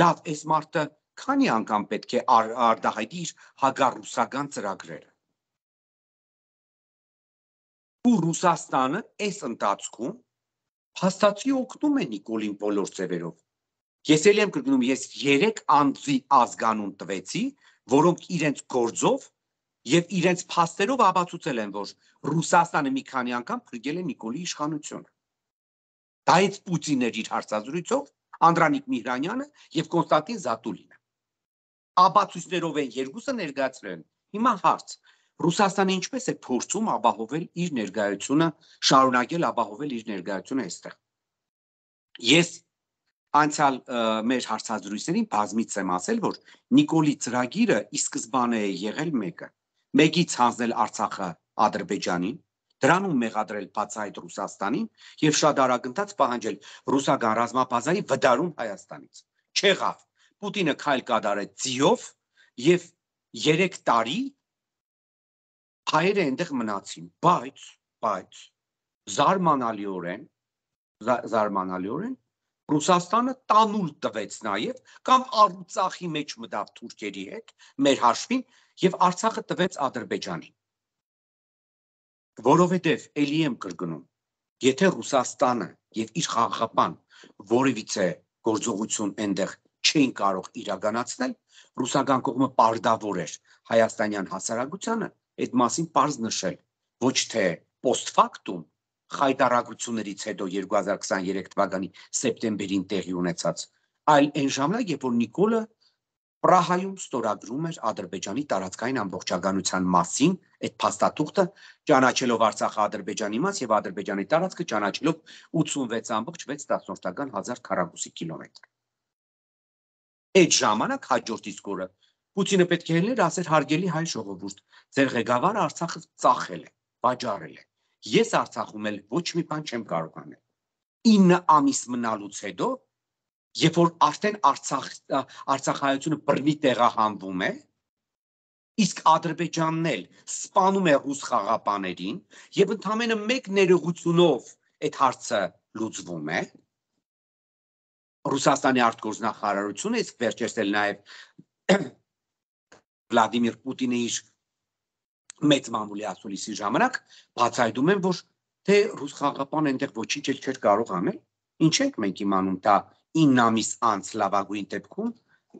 C: Լավ, այս մարդը քանի անգամ պետք է արտահայտի իր հագառուսական ծրագրերը։ Ու Ռուսաստանը այս ընթացքում փաստացի օգնում է Նիկոլին բոլոր ձևերով։ Ես էլ եմ կրկնում, ես 3 անձի ազգանուն տվեցի, որոնք իրենց գործով եւ իրենց փաստերով ապացուցել են, որ Ռուսաստանը մի քանի անգամ փրկել է Նիկոլի իշխանությունը։ Դա այդ Պուտինն էր իր հարցազրույցով, Անդրանիկ Միհրանյանը եւ Կոնստանտին Զատուլինը։ Ապացույցներով են երկուսը ներկայացրել։ Հիմա հարց. Ռուսաստանը ինչպես է փորձում ապահովել իր ներկայությունը, շարունակել ապահովել իր ներկայությունը այստեղ։ Ես անցյալ մեր հարցազրույցներին բազմիցս եմ ասել, որ Նիկոլի ծրագիրը ի սկզբանե է եղել մեկից հանձնել Արցախը Ադրբեջանին, դրանում մեղադրել բացահայտ Ռուսաստանին եւ շատ արագընթաց պահանջել ռուսական ռազմաբազայի վտարում Հայաստանից։ Չեղավ։ Պուտինը քայլ կատարեց ձիով եւ 3 տարի հայերը այնտեղ մնացին, բայց զարմանալիորեն Ռուսաստանը տանուլ տվեց նաեւ կամ Արցախի մեջ մտավ թուրքերի հետ մեր հաշվին եւ Արցախը տվեց Ադրբեջանին։ Որովհետեւ էլի եմ կրկնում, եթե Ռուսաստանը եւ իր խաղաղապան որևիցե գործողություն այնտեղ չէին կարող իրականացնել, ռուսական կողմը պարտավոր էր հայաստանյան հասարակությանը այդ մասին պարզ նշել, ոչ թե post factum խայտարակություններից հետո 2023 թվականի սեպտեմբերին տեղի ունեցած, այլ այն ժամանակ, երբ որ Նիկոլը Պրահայում ստորագրում էր Ադրբեջանի տարածքային ամբողջականության մասին այդ փաստաթուղթը, ճանաչելով Արցախը Ադրբեջանի մաս եւ Ադրբեջանի տարածքը ճանաչելով 86.6 քառակուսի կիլոմետր։ Այդ ժամանակ հաջորդ իսկ օրը Պուտինը պետք է ելներ ասեր հարգելի հայ ժողովուրդ, ձեր ղեկավարը Արցախը ծախել է, վաճառել է։ Ես Արցախում էլ ոչ մի բան չեմ կարող անել։ 9 ամիս մնալուց հետո, երբ որ արդեն Արցախայությունը բռնի տեղահանվում է, իսկ Ադրբեջանն էլ սպանում է ռուս խաղապաներին եւ ընդամենը մեկ ներողությունով այդ հարցը լուծվում է, Ռուսաստանի արտգործնախարարությունը, իսկ վերջերս էլ նաեւ Վլադիմիր Պուտինը իր մեծ մամուլի ասուլիսի ժամանակ բացահայտում են, որ թե ռուս խաղապան այնտեղ ոչինչ էլ չէր կարող անել, ինչ ենք մենք իմանում, դա 9 ամիս անց լավագույն դեպքում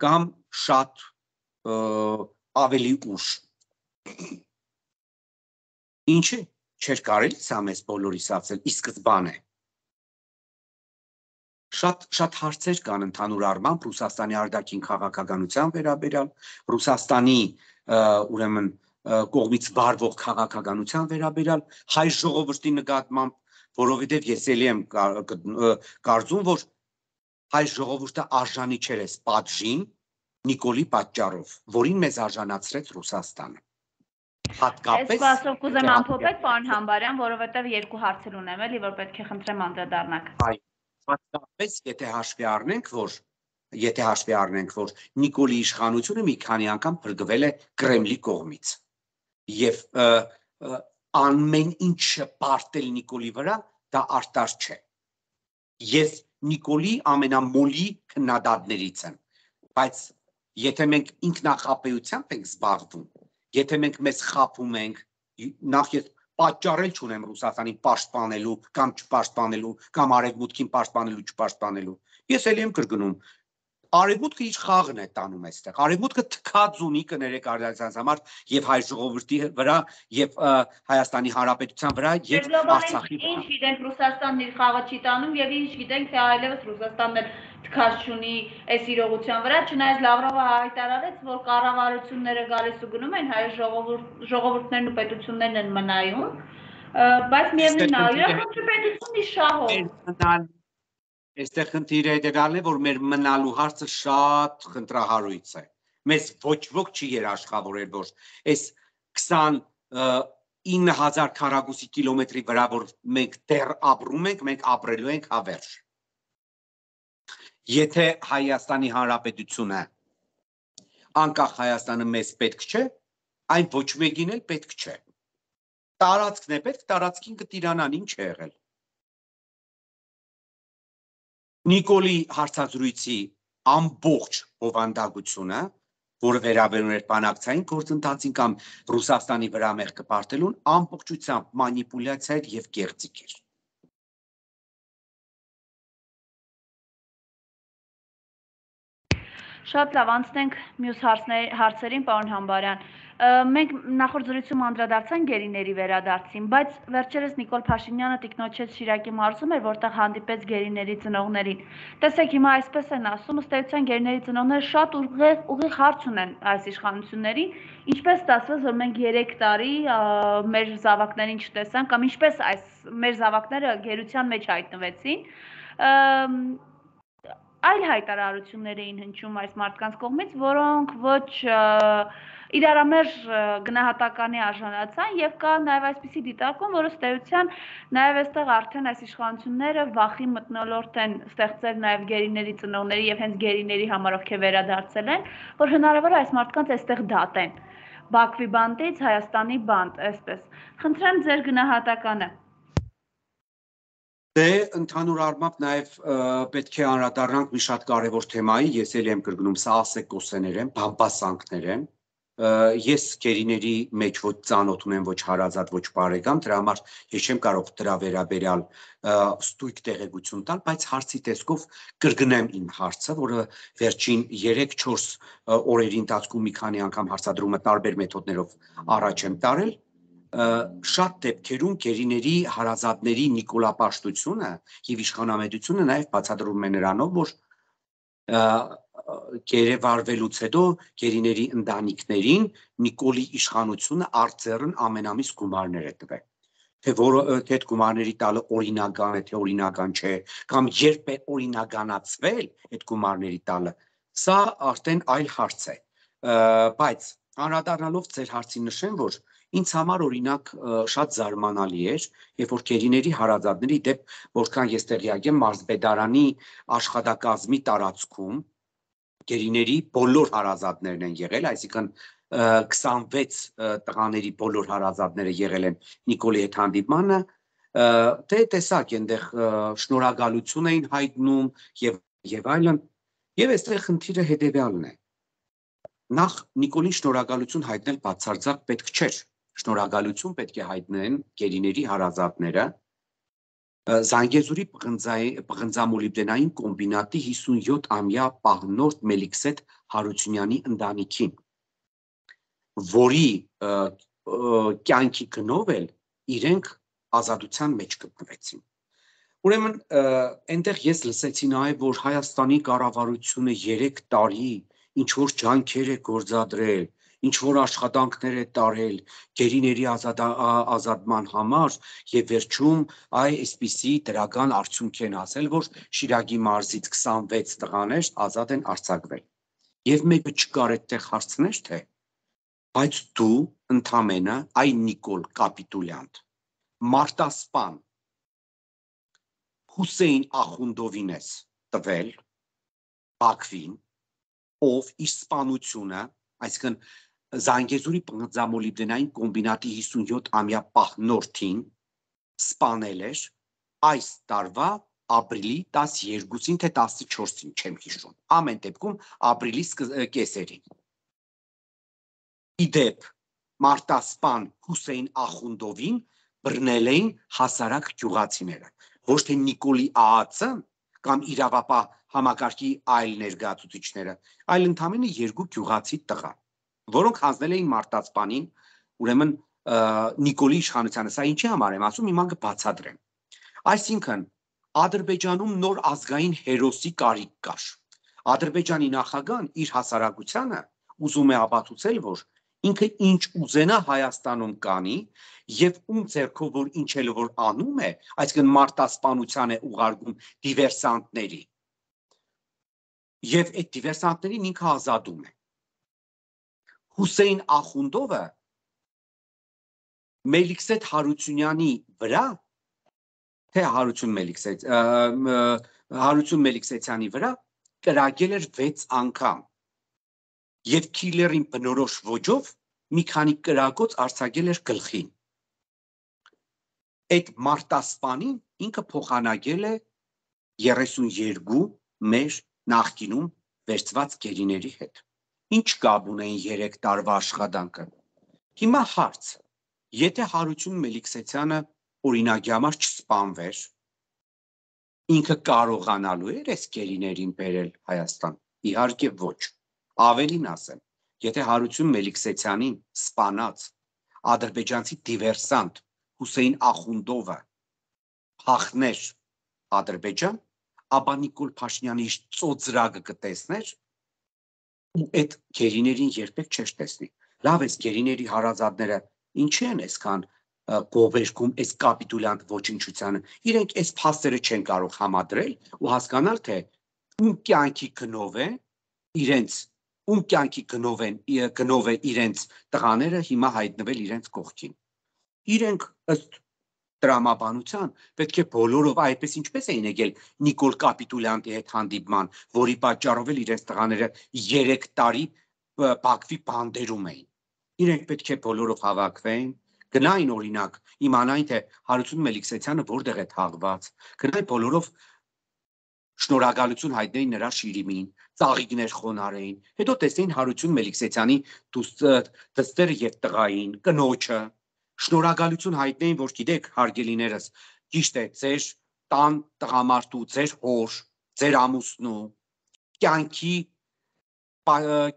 C: կամ շատ ավելի ուշ։ Ինչի՞ չէր կարելի սա մեզ բոլորիս ասել ի սկզբանե։ Շատ հարցեր կան ընդհանուր առմամբ Ռուսաստանի արտաքին քաղաքականության վերաբերյալ, Ռուսաստանի ուրեմն կողմից վարվող քաղաքականության վերաբերյալ, հայ ժողովրդի նկատմամբ, որովհետև ես էլի եմ կարծում, որ հայ ժողովուրդը արժանի չէր այս պատժին Նիկոլի պատճառով, որին մեզ արժանացրեց Ռուսաստանը։ Հատկապես
B: Ես բասով կուզեմ ամփոփել, պարոն Համբարյան, որովհետև 2 հարցեր ունեմ էլի, որ պետք է խնդրեմ անդրադառնաք։
C: Հատկապես եթե հաշվի առնենք, որ Նիկոլի իշխանությունը մի քանի անգամ փրկվել է Կրեմլի կողմից եւ ամեն ինչը պարտել Նիկոլի վրա դա արտար չէ։ Ես Նիկոլի ամենամոլի քննադատներից եմ, բայց եթե մենք ինքնախապեյությամբ ենք զբաղվում Եթե մենք մեզ խափում ենք, նախ ես պատճառել չունեմ Ռուսաստանին պաշտպանելու կամ չպաշտպանելու, կամ արևմուտքին պաշտպանելու, չպաշտպանելու։ Ես էլի եմ կրկնում, արևմուտքը իր խաղն է տանում այստեղ։ Արևմուտքը թքած ունի կներեք արտադրության համար եւ հայ ժողովրդի վրա եւ Հայաստանի Հանրապետության վրա եւ Արցախի վրա։
B: Ինչ գիտենք Ռուսաստանն իր խաղը չի տանում եւ ինչ գիտենք թե այլևս Ռուսաստանն էլ թքած չունի այս իրողության վրա, չնայած Լավրովը հայտարարեց, որ կառավարությունները գալիս ու գնում են, հայ ժողովուրդներն ու պետություններն են մնայում, բայց միևնույն է, յուրաքանչյուր պետությունն իր շահով։
C: Այստեղ խնդիրը դրալն է, որ մեր մնալու հարցը շատ խնդրահարույց է։ Մեզ ոչ ոք չի երաշխավորել, որ այս 29,000 քառակուսի կիլոմետրի վրա, որ մենք դեռ ապրում ենք, մենք ապրելու ենք հավերժ։ Եթե Հայաստանի Հանրապետությունը, անկախ Հայաստանը մեզ պետք չէ, այն ոչ մեկին էլ պետք չէ։ Տարածքն է պետք, տարածքին կտիրանան, ինչ է եղել։ Նիկոլի հարցազրույցի ամբողջ բովանդակությունը, որը վերաբերում էր բանակցային գործընթացին կամ Ռուսաստանի վրա մեղքը պարտելուն, ամբողջությամբ մանիպուլյացիա էր եւ կեղծիք էր։
B: Շատ լավ, անցնենք մյուս հարցերին, պարոն Համբարյան։ Մենք նախորդ զրույցում անդրադարձանք գերիների վերադարձին, բայց վերջերս Նիկոլ Փաշինյանը տիկնոջեց Շիրակի մարզում էր, որտեղ հանդիպեց գերիների ծնողներին։ Տեսեք, հիմա այսպես են ասում, ըստ էության գերիների ծնողները շատ ուղիղ հարց ունեն այս իշխանություններին, ինչպես ստացվեց, որ մենք 3 տարի մեր զավակներին չտեսանք, կամ ինչպես այս մեր զավակները գերության մեջ հայտնվեցին։ Այլ հայտարարություններ էին հնչում այս մարդկանց կողմից, որոնք ոչ իրարամերժ գնահատականի արժանացան եւ կա նաեւ այսպիսի դիտարկում, որը ըստ էության նաեւ այստեղ արդեն այս իշխանությունները վախի մթնոլորտ են ստեղծել նաեւ գերիների ծնողների եւ հենց գերիների համար, ովքեր վերադարձել են, որ հնարավոր է այս մարդկանց այստեղ դատեն։ Բաքվի բանտից Հայաստանի բանտ, այսպես։ Խնդրեմ ձեր գնահատականը։
C: Դե ընդհանուր առմամբ նաև պետք է անդրադառնանք մի շատ կարևոր թեմայի, ես էլ եմ կրկնում, սա ասեկոսեներ են, բամբասանքներ են։ Ես գերիների մեջ ոչ ծանոթ ունեմ, ոչ հարազատ, ոչ բարեկամ, դրա համար ես չեմ կարող դրա վերաբերյալ ստույգ տեղեկություն տալ, բայց հարցի տեսքով կրկնեմ իմ հարցը, որը վերջին 3-4 օրերի ընթացքում մի քանի անգամ հարցադրումը տարբեր մեթոդներով առաջ եմ տարել։ Շատ դեպքերում գերիների հարազատների նիկոլապաշտությունը եւ իշխանամետությունը նաեւ բացատրվում է նրանով, որ գերեվարվելուց հետո գերիների ընտանիքներին Նիկոլի իշխանությունը արձերն ամենամիս գումարներ է տվել։ Թե այդ գումարների տալը օրինական է, թե օրինական չէ, կամ երբ է օրինականացվել այդ գումարների տալը, սա արդեն այլ հարց է։ Բայց անդրադառնալով ձեր հարցին նշեմ, որ ինձ համար օրինակ շատ զարմանալի էր, երբ որ գերիների հարազատների դեպ, որքան ես տեղյակ եմ, մարզպետարանի աշխատակազմի տարածքում գերիների բոլոր հարազատներն են եղել, այսինքն 26 տղաների բոլոր հարազատները եղել են Նիկոլի հետ հանդիպմանը, թե տեսակ այնտեղ շնորհակալություն էին հայտնում եւ այլն, եւ այստեղ խնդիրը հետեւյալն է։ Նախ Նիկոլին շնորհակալություն հայտնել բացարձակ պետք չէր։ Շնորհակալություն պետք է հայտնեն գերիների հարազատները Զանգեզուրի պղնձամոլիբդենային կոմբինատի 57-ամյա պահնորդ Մելիքսեթ Հարությունյանի ընտանիքին, որի կյանքի գնով էլ իրենք ազատության մեջ գտնվեցին։ Ուրեմն այնտեղ ես լսեցի նաև, որ Հայաստանի կառավարությունը 3 տարի ինչ որ ջանքեր է գործադրել, ինչ որ աշխատանքներ է տարել գերիների ազատման համար եւ վերջում այսպիսի դրական արդյունք են ասել, որ Շիրակի մարզից 26 տղաներ ազատ են արձակվել։ Եվ մեկը չկար այդտեղ հարցներ, թե բայց դու ընդամենը այն Նիկոլ Կապիտուլյանտ մարտասպան Հուսեյն Ախունդովին ես տվել Բաքվին, ով իր սպանությունը, այսինքն Զանգեզուրի պղնձամոլիբդենային կոմբինատի 57-ամյա պահնորդին սպանել էր այս տարվա ապրիլի 12-ին թե 14-ին, չեմ հիշում, ամեն դեպքում ապրիլի կեսերին։ Իդեպ մարտասպան Հուսեյն Ախունդովին բռնել էին հասարակ գյուղացիները, ոչ թե Նիկոլի ԱԱՑ-ը կամ իրավապահ համակարգի այլ ներկայացուցիչները, այլ ընդամենը երկու գյուղացի տղա, որոնք հանձնել էին մարտասպանին, ուրեմն Նիկոլի իշխանությանը, սա ինչի համար եմ ասում, հիմա կբացատրեմ։ Այսինքն, Ադրբեջանում նոր ազգային հերոսի կարիք կար։ Ադրբեջանի նախագահան իր հասարակությանը ուզում է ապացուցել, որ ինքը ինչ ուզենա Հայաստանում կանի եւ ում ձեռքով որ ինչել որ անում է, այսինքն մարտասպանության է ուղարկում դիվերսանտների։ Եվ այդ դիվերսանտներին ինքը ազատում է։ Հուսեյն Ախունդովը Մելիքսեթ Հարությունյանի վրա, թե Հարություն Մելիքսեթյանի վրա կրակել էր 6 անգամ եւ քիլերին բնորոշ ոճով մի քանի կրակոց արձակել էր գլխին։ Այդ մարտասպանին ինքը փոխանակել է 32 մեր նախկինում վերցված գերիների հետ։ Ինչ կապ ունեն 3 տարվա աշխատանքը։ Հիմա հարց. Եթե Հարություն Մելիքսեթյանը օրինակի համար չսպանվեր, ինքը կարողանալու էր այս գերիներին բերել Հայաստան։ Իհարկե ոչ։ Ավելին ասեմ, եթե Հարություն Մելիքսեթյանին սպանած ադրբեջանցի դիվերսանտ Հուսեյն Ախունդովը փախներ Ադրբեջան, ապա Նիկոլ Փաշինյանի ծոծրակը կտեսներ ու այդ գերիներին երբեք չէր տեսնի։ Լավ է, գերիների հարազատները ինչի են այսքան գովերքում այս կապիտուլյանտ ոչնչությանը, իրենք այս փաստերը չեն կարող համադրել ու հասկանալ, թե ում կյանքի գնով է իրենց տղաները հիմա հայտնվել իրենց կողքին։ Իրենք ըստ տրամաբանության պետք է բոլորով այդպես ինչպես էին եկել Նիկոլ Կապիտուլյանտի հետ հանդիպման, որի պատճառով էլ իրենց տղաները 3 տարի Բաքվի բանդերում էին։ Իրենք պետք է բոլորով հավաքվեին, գնային օրինակ, իմանային, թե Հարություն Մելիքսեթյանը որտեղ է թաղված, գնային բոլորով շնորհակալություն հայտնեին նրա շիրիմին, ծաղիկներ խոնարհեին, հետո տեսնեին Հարություն Մելիքսեթյանի դստերը եւ տղային, կնոջը, շնորհակալություն հայտնեին, որ գիտեք, հարգելիներս, ճիշտ է, ձեր տան տղամարդու, ձեր հոր, ձեր ամուսնու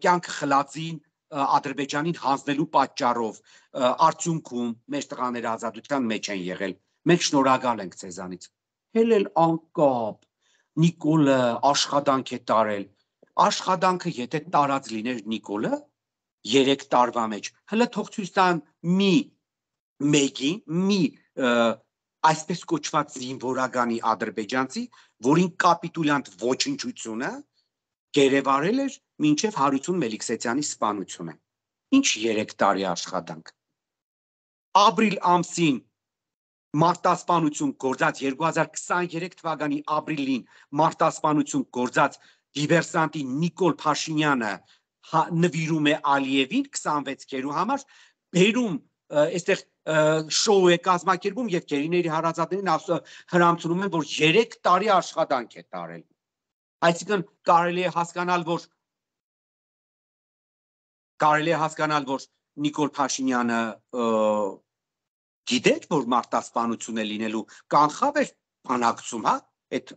C: կյանքը խլածին Ադրբեջանին հանձնելու պատճառով արդյունքում մեր տղաները ազատության մեջ են եղել։ Մենք շնորհակալ ենք ձեզանից։ Հել անկապ Նիկոլը աշխատանք է տարել։ Աշխատանքը եթե տարած լիներ Նիկոլը 3 տարվա մեջ, հələ թող ցույց տան մի այսպես կոչված զինվորականի ադրբեջանցի, որին կապիտուլյանտ ոչնչությունը գերեվարել էր մինչև Հարություն Մելիքսեթյանի սպանությունը։ Ինչ 3 տարի աշխատանք։ Ապրիլ ամսին մարտասպանություն գործած 2023 թվականի ապրիլին մարտասպանություն գործած դիվերսանտի Նիկոլ Փաշինյանը նվիրում է Ալիևին 26-երու համար, բերում այստեղ շոու է կազմակերպում եւ գերիների հարազատներին հրամցնում են, որ 3 տարի աշխատանք է տարել։ Այսինքն կարելի է հասկանալ, որ Նիկոլ Փաշինյանը գիտեր, որ մարտասպանություն է լինելու, կանխավ էր բանակցում, հա, այդ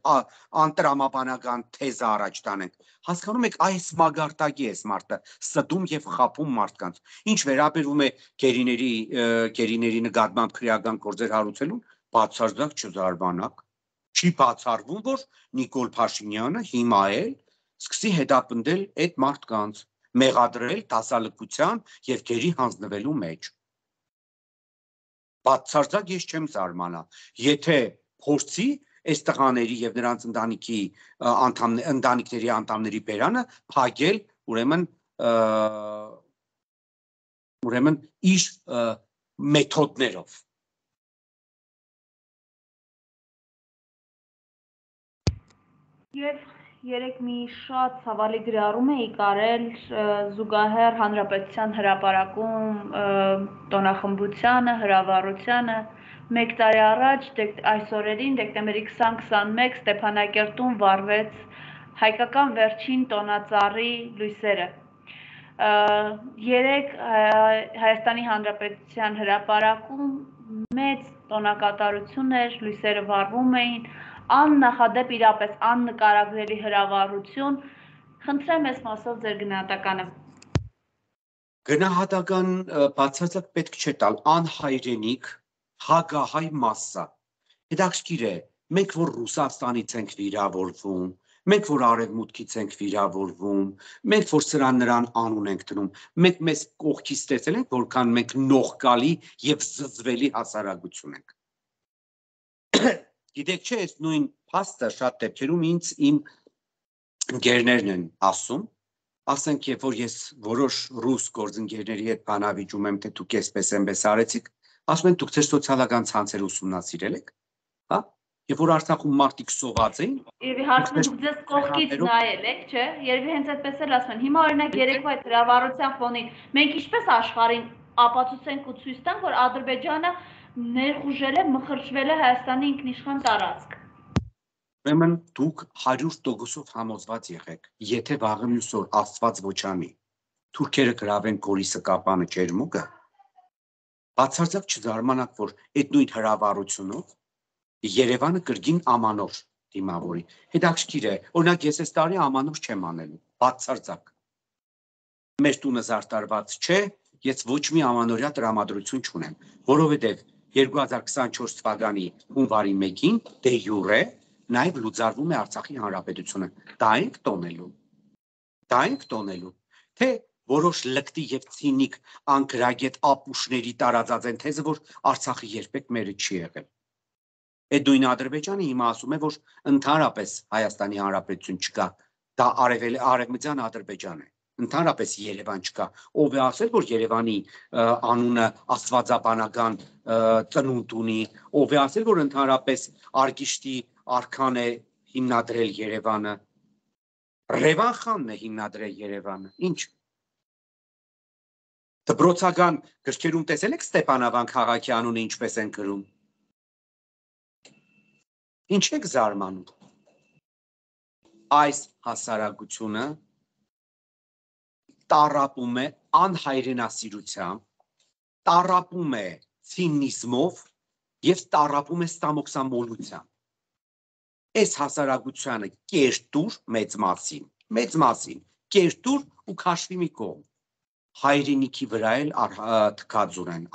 C: անտրամաբանական թեզը առաջ տանենք։ Հասկանում եք, այս մագարտակի է մարդը ստում եւ խափում մարդկանց։ Ինչ վերաբերում է գերիների նկատմամբ քրեական գործեր հարուցելուն, բացարձակ չզարմանաք։ Չի բացառվում, որ Նիկոլ Փաշինյանը հիմա էլ սկսի հետապնդել այդ մարդկանց, մեղադրել դասալքության եւ գերի հանձնվելու մեջ։ Բացարձակ ես չեմ զարմանա, եթե փորձի այս տղաների եւ նրանց ընտանիքների անդամների բերանը փակել, ուրեմն իր մեթոդներով։
B: Եվ երեք մի շատ ցավալի գրառում էի կարել զուգահեռ Հանրապետության հրապարակում տոնախմբությանը, հրավառությանը 1 տարի առաջ այս օրերին դեկտեմբերի 20-21 Ստեփանակերտում վառվեց հայկական վերջին տոնածառի լույսերը։ երեք Հայաստանի Հանրապետության հրապարակում մեծ տոնակատարություն էր, լույսերը վառվում էին, աննախադեպ իրապես աննկարագրելի հրավառություն, խնդրեմ այս մասով ձեր գնահատականը։
C: Գնահատական բացարձակ պետք չէ տալ, անհայրենիք, հագահայ մասսա։ Հետաքրքիր է, մենք որ Ռուսաստանից ենք վիրավորվում, մենք որ արևմուտքից ենք վիրավորվում, մենք որ սրան նրան անուն ենք դնում, մենք մեզ կողքից տեսել ենք, որքան մենք նողկալի եւ զզվելի հասարակություն ենք։ Գիտեք չէ, այս նույն փաստը շատ դեպքերում ինձ իմ ընկերներն են ասում, ասենք երբ որ ես որոշ ռուս գործընկերների հետ բանավիճում եմ, թե դուք էսպես արեցիք, ասում են դուք ձեր սոցիալական ցանցերը ուսումնասիրել եք, հա? Երբ որ Արցախում մարդիկ սոված էին,
B: Երևի հարցնում դուք ձեզ կողքից նայել եք, չէ? Երևի հենց այդպես էլ ասում են։ Հիմա օրինակ երեկվա այդ հրավառության ֆոնին մենք ինչպես աշխարհին ապացուցենք ու ցույց տանք, որ Ադրբեջանը ներխուժել է, մխրճվել է Հայաստանի ինքնիշխան տարածք։
C: Ուրեմն դուք 100% համոզված եղեք, եթե վաղը մյուս օր Աստված ոչանի, թուրքերը գրավեն Գորիսը, Կապանը, Ջերմուկը, բացարձակ չզարմանաք, որ այդ նույն հրավառությունով Երևանը կրկին ամանոր դիմավորի։ Հետաքրքիր է, օրինակ ես այս տարի ամանոր չեմ անելու, բացարձակ։ Մեր տունը զարտարված չէ, ես ոչ մի ամանորյա տրամադրություն չունեմ, որովհետև 2024 թվականի հունվարի 1-ին դե յուրե նաև լուծարվում է Արցախի հանրապետությունը։ Դա ենք տոնելու։ Թե որոշ լկտի եւ ցինիկ անկրագետ ապուշների տարածած են թեզը, որ Արցախը երբեք մերը չի եղել։ Այդ նույն Ադրբեջանը հիմա ասում է, որ ընդհանրապես Հայաստանի հանրապետություն չկա, դա արևմտյան Ադրբեջան է։ Ընդհանրապես Երևան չկա, ով է ասել, որ Երևանի անունը աստվածաբանական ծնունդ ունի, ով է ասել, որ ընդհանրապես Արգիշտի արքան է հիմնադրել Երևանը, Ռևան խանն է հիմնադրել Երևանը, ինչ։ Դպրոցական գրքերում տեսել եք Ստեփանավան քաղաքի անունը ինչպես են գրում։ Ինչ եք զարմանում։ Այս հասարակությունը տառապում է անհայրենասիրությամբ, տառապում է ցինիզմով եւ տառապում է ստամոքսամոլությամբ։ Այս հասարակությանը կերտուր մեծ մասին, կերտուր ու քաշվի մի կողմ։ Հայրենիքի վրա էլ թքած ունեն,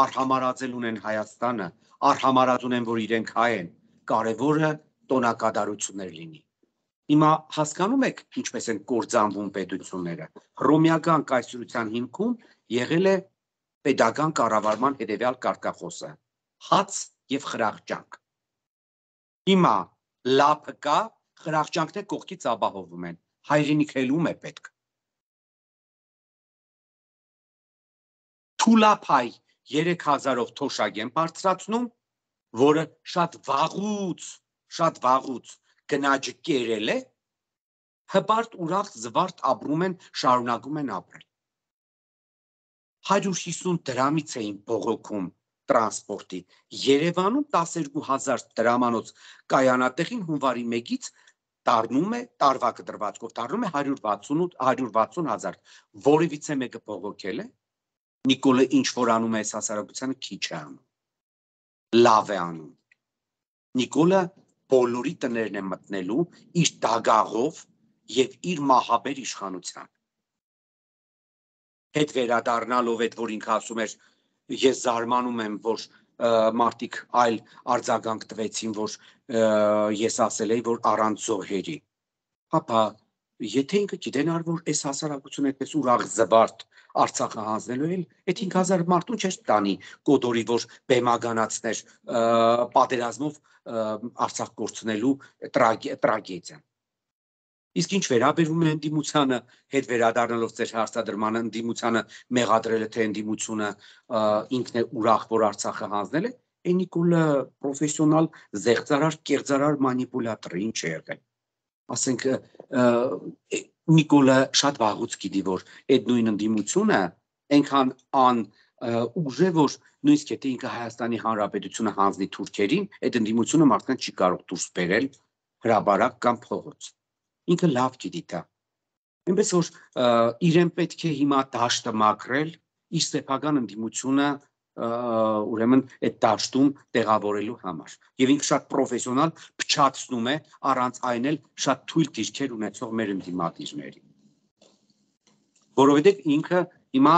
C: արհամարածել ունեն Հայաստանը, արհամարած ունեն, որ իրենք հայ են, կարևորը տոնակատարություններ լինի։ Հիմա հասկանում եք ինչպես են կործանվում պետությունները։ Հռոմեական կայսրության հիմքում եղել է պետական կառավարման հետևյալ կարգախոսը՝ հաց եւ խրախճանք։ Հիմա լափը կա, խրախճանքները կողքից ապահովում են, հայրենիք ելում է պետք։ Թուլափայ 3000-ով թոշակ են բարձրացնում, որը շատ վաղուց գնաճը կերել է, հպարտ ուրախ զվարթ ապրում են, շարունակում են ապրել։ 150 դրամից էին բողոքում տրանսպորտի, Երևանում 12000 դրամանոց կայանատեղին հունվարի 1-ից դառնում է տարվա կտրվածքով, դառնում է 160,000, որևիցե մեկը բողոքել է, Նիկոլը ինչ որ անում է այս հասարակությանը քիչ է անում, լավ է անում։ Նիկոլը բոլորի տներն է մտնելու իր դագաղով եւ իր մահաբեր իշխանությամբ։ Հետ վերադառնալով այդ, որ ինքը ասում էր, ես զարմանում եմ, որ մարդիկ այլ արձագանք տվեցին, որ ես ասել էի, որ առանց զոհերի։ Հապա, եթե ինքը գիտենար, որ այս հասարակությունը այդպես ուրախ զվարթ Արցախը հանձնելու էլ, այդ 5000 մարդուն չէր տանի կոդորի, որ բեմագանացներ պատերազմով Արցախ կորցնելու տրագեդիան։ Իսկ ինչ վերաբերում է ընդդիմությանը, հետ վերադառնալով ձեր հարցադրմանը, ընդդիմությանը մեղադրելը, թե ընդդիմությունը ինքն է ուրախ, որ Արցախը հանձնել է, Նիկոլը պրոֆեսիոնալ զեղծարար, կեղծարար մանիպուլատոր է, ինչ է եղել։ Ասենք Նիկոլը շատ վաղուց գիտի, որ այդ նույն ընդդիմությունը այնքան ուժ է, որ նույնիսկ եթե ինքը Հայաստանի Հանրապետությունը հանձնի թուրքերին, այդ ընդդիմությունը մարդկանց չի կարող դուրս բերել հրաբարակ կամ փողոց։ Ինքը լավ գիտի դա։ Այնպես որ իրեն պետք է հիմա դաշտը մաքրել, իր սեփական ընդդիմությունը ուրեմն այդ դաշտում տեղավորելու համար։ Եվ ինքը շատ պրոֆեսիոնալ փչացնում է առանց այն էլ շատ թույլ դիրքեր ունեցող մեր ընդդիմադիրների։ Որովհետև ինքը հիմա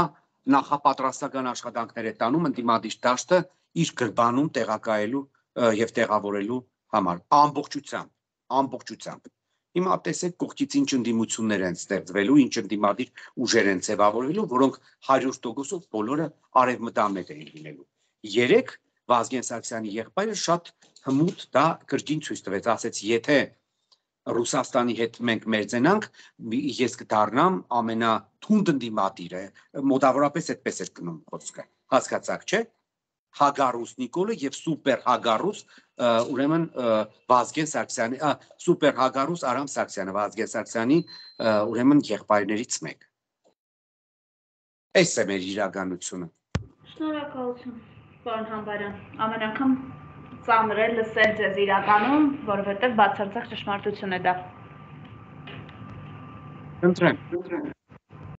C: նախապատրաստական աշխատանքներ է տանում ընդդիմադիր դաշտը իր գրբանում տեղակայելու եւ տեղավորելու համար ամբողջությամբ։ Հիմա տեսեք կողքից ինչ ընդդիմություններ են ստեղծվելու, ինչ ընդդիմադիր ուժեր են ձևավորվելու, որոնք 100%-ով բոլորը արևմտամետ են լինելու։ Երեք Վազգեն Սարգսյանի եղբայրը շատ հմուտ դա կրկին ցույց տվեց, ասեց, եթե Ռուսաստանի հետ մենք մերձենանք, ես կդառնամ ամենաթունդ ընդդիմադիրը, մոտավորապես այդպես էր գնում խոսքը, հասկացաք, չէ՞։ Հագարուս Նիկոլը եւ սուպեր Հագարուս ուրեմն Վազգեն Սարգսյանի սուպեր Հագարուս Արամ Սարգսյանը Վազգեն Սարգսյանի ուրեմն եղբայրներից մեկը։ Այս է մեր իրականությունը։
B: Շնորհակալություն, պարոն Համբարյան։ Ամեն անգամ ծանր է լսել ձեզ իրականում, որովհետև բացարձակ ճշմարտություն է դա։
C: Ընտրեմ։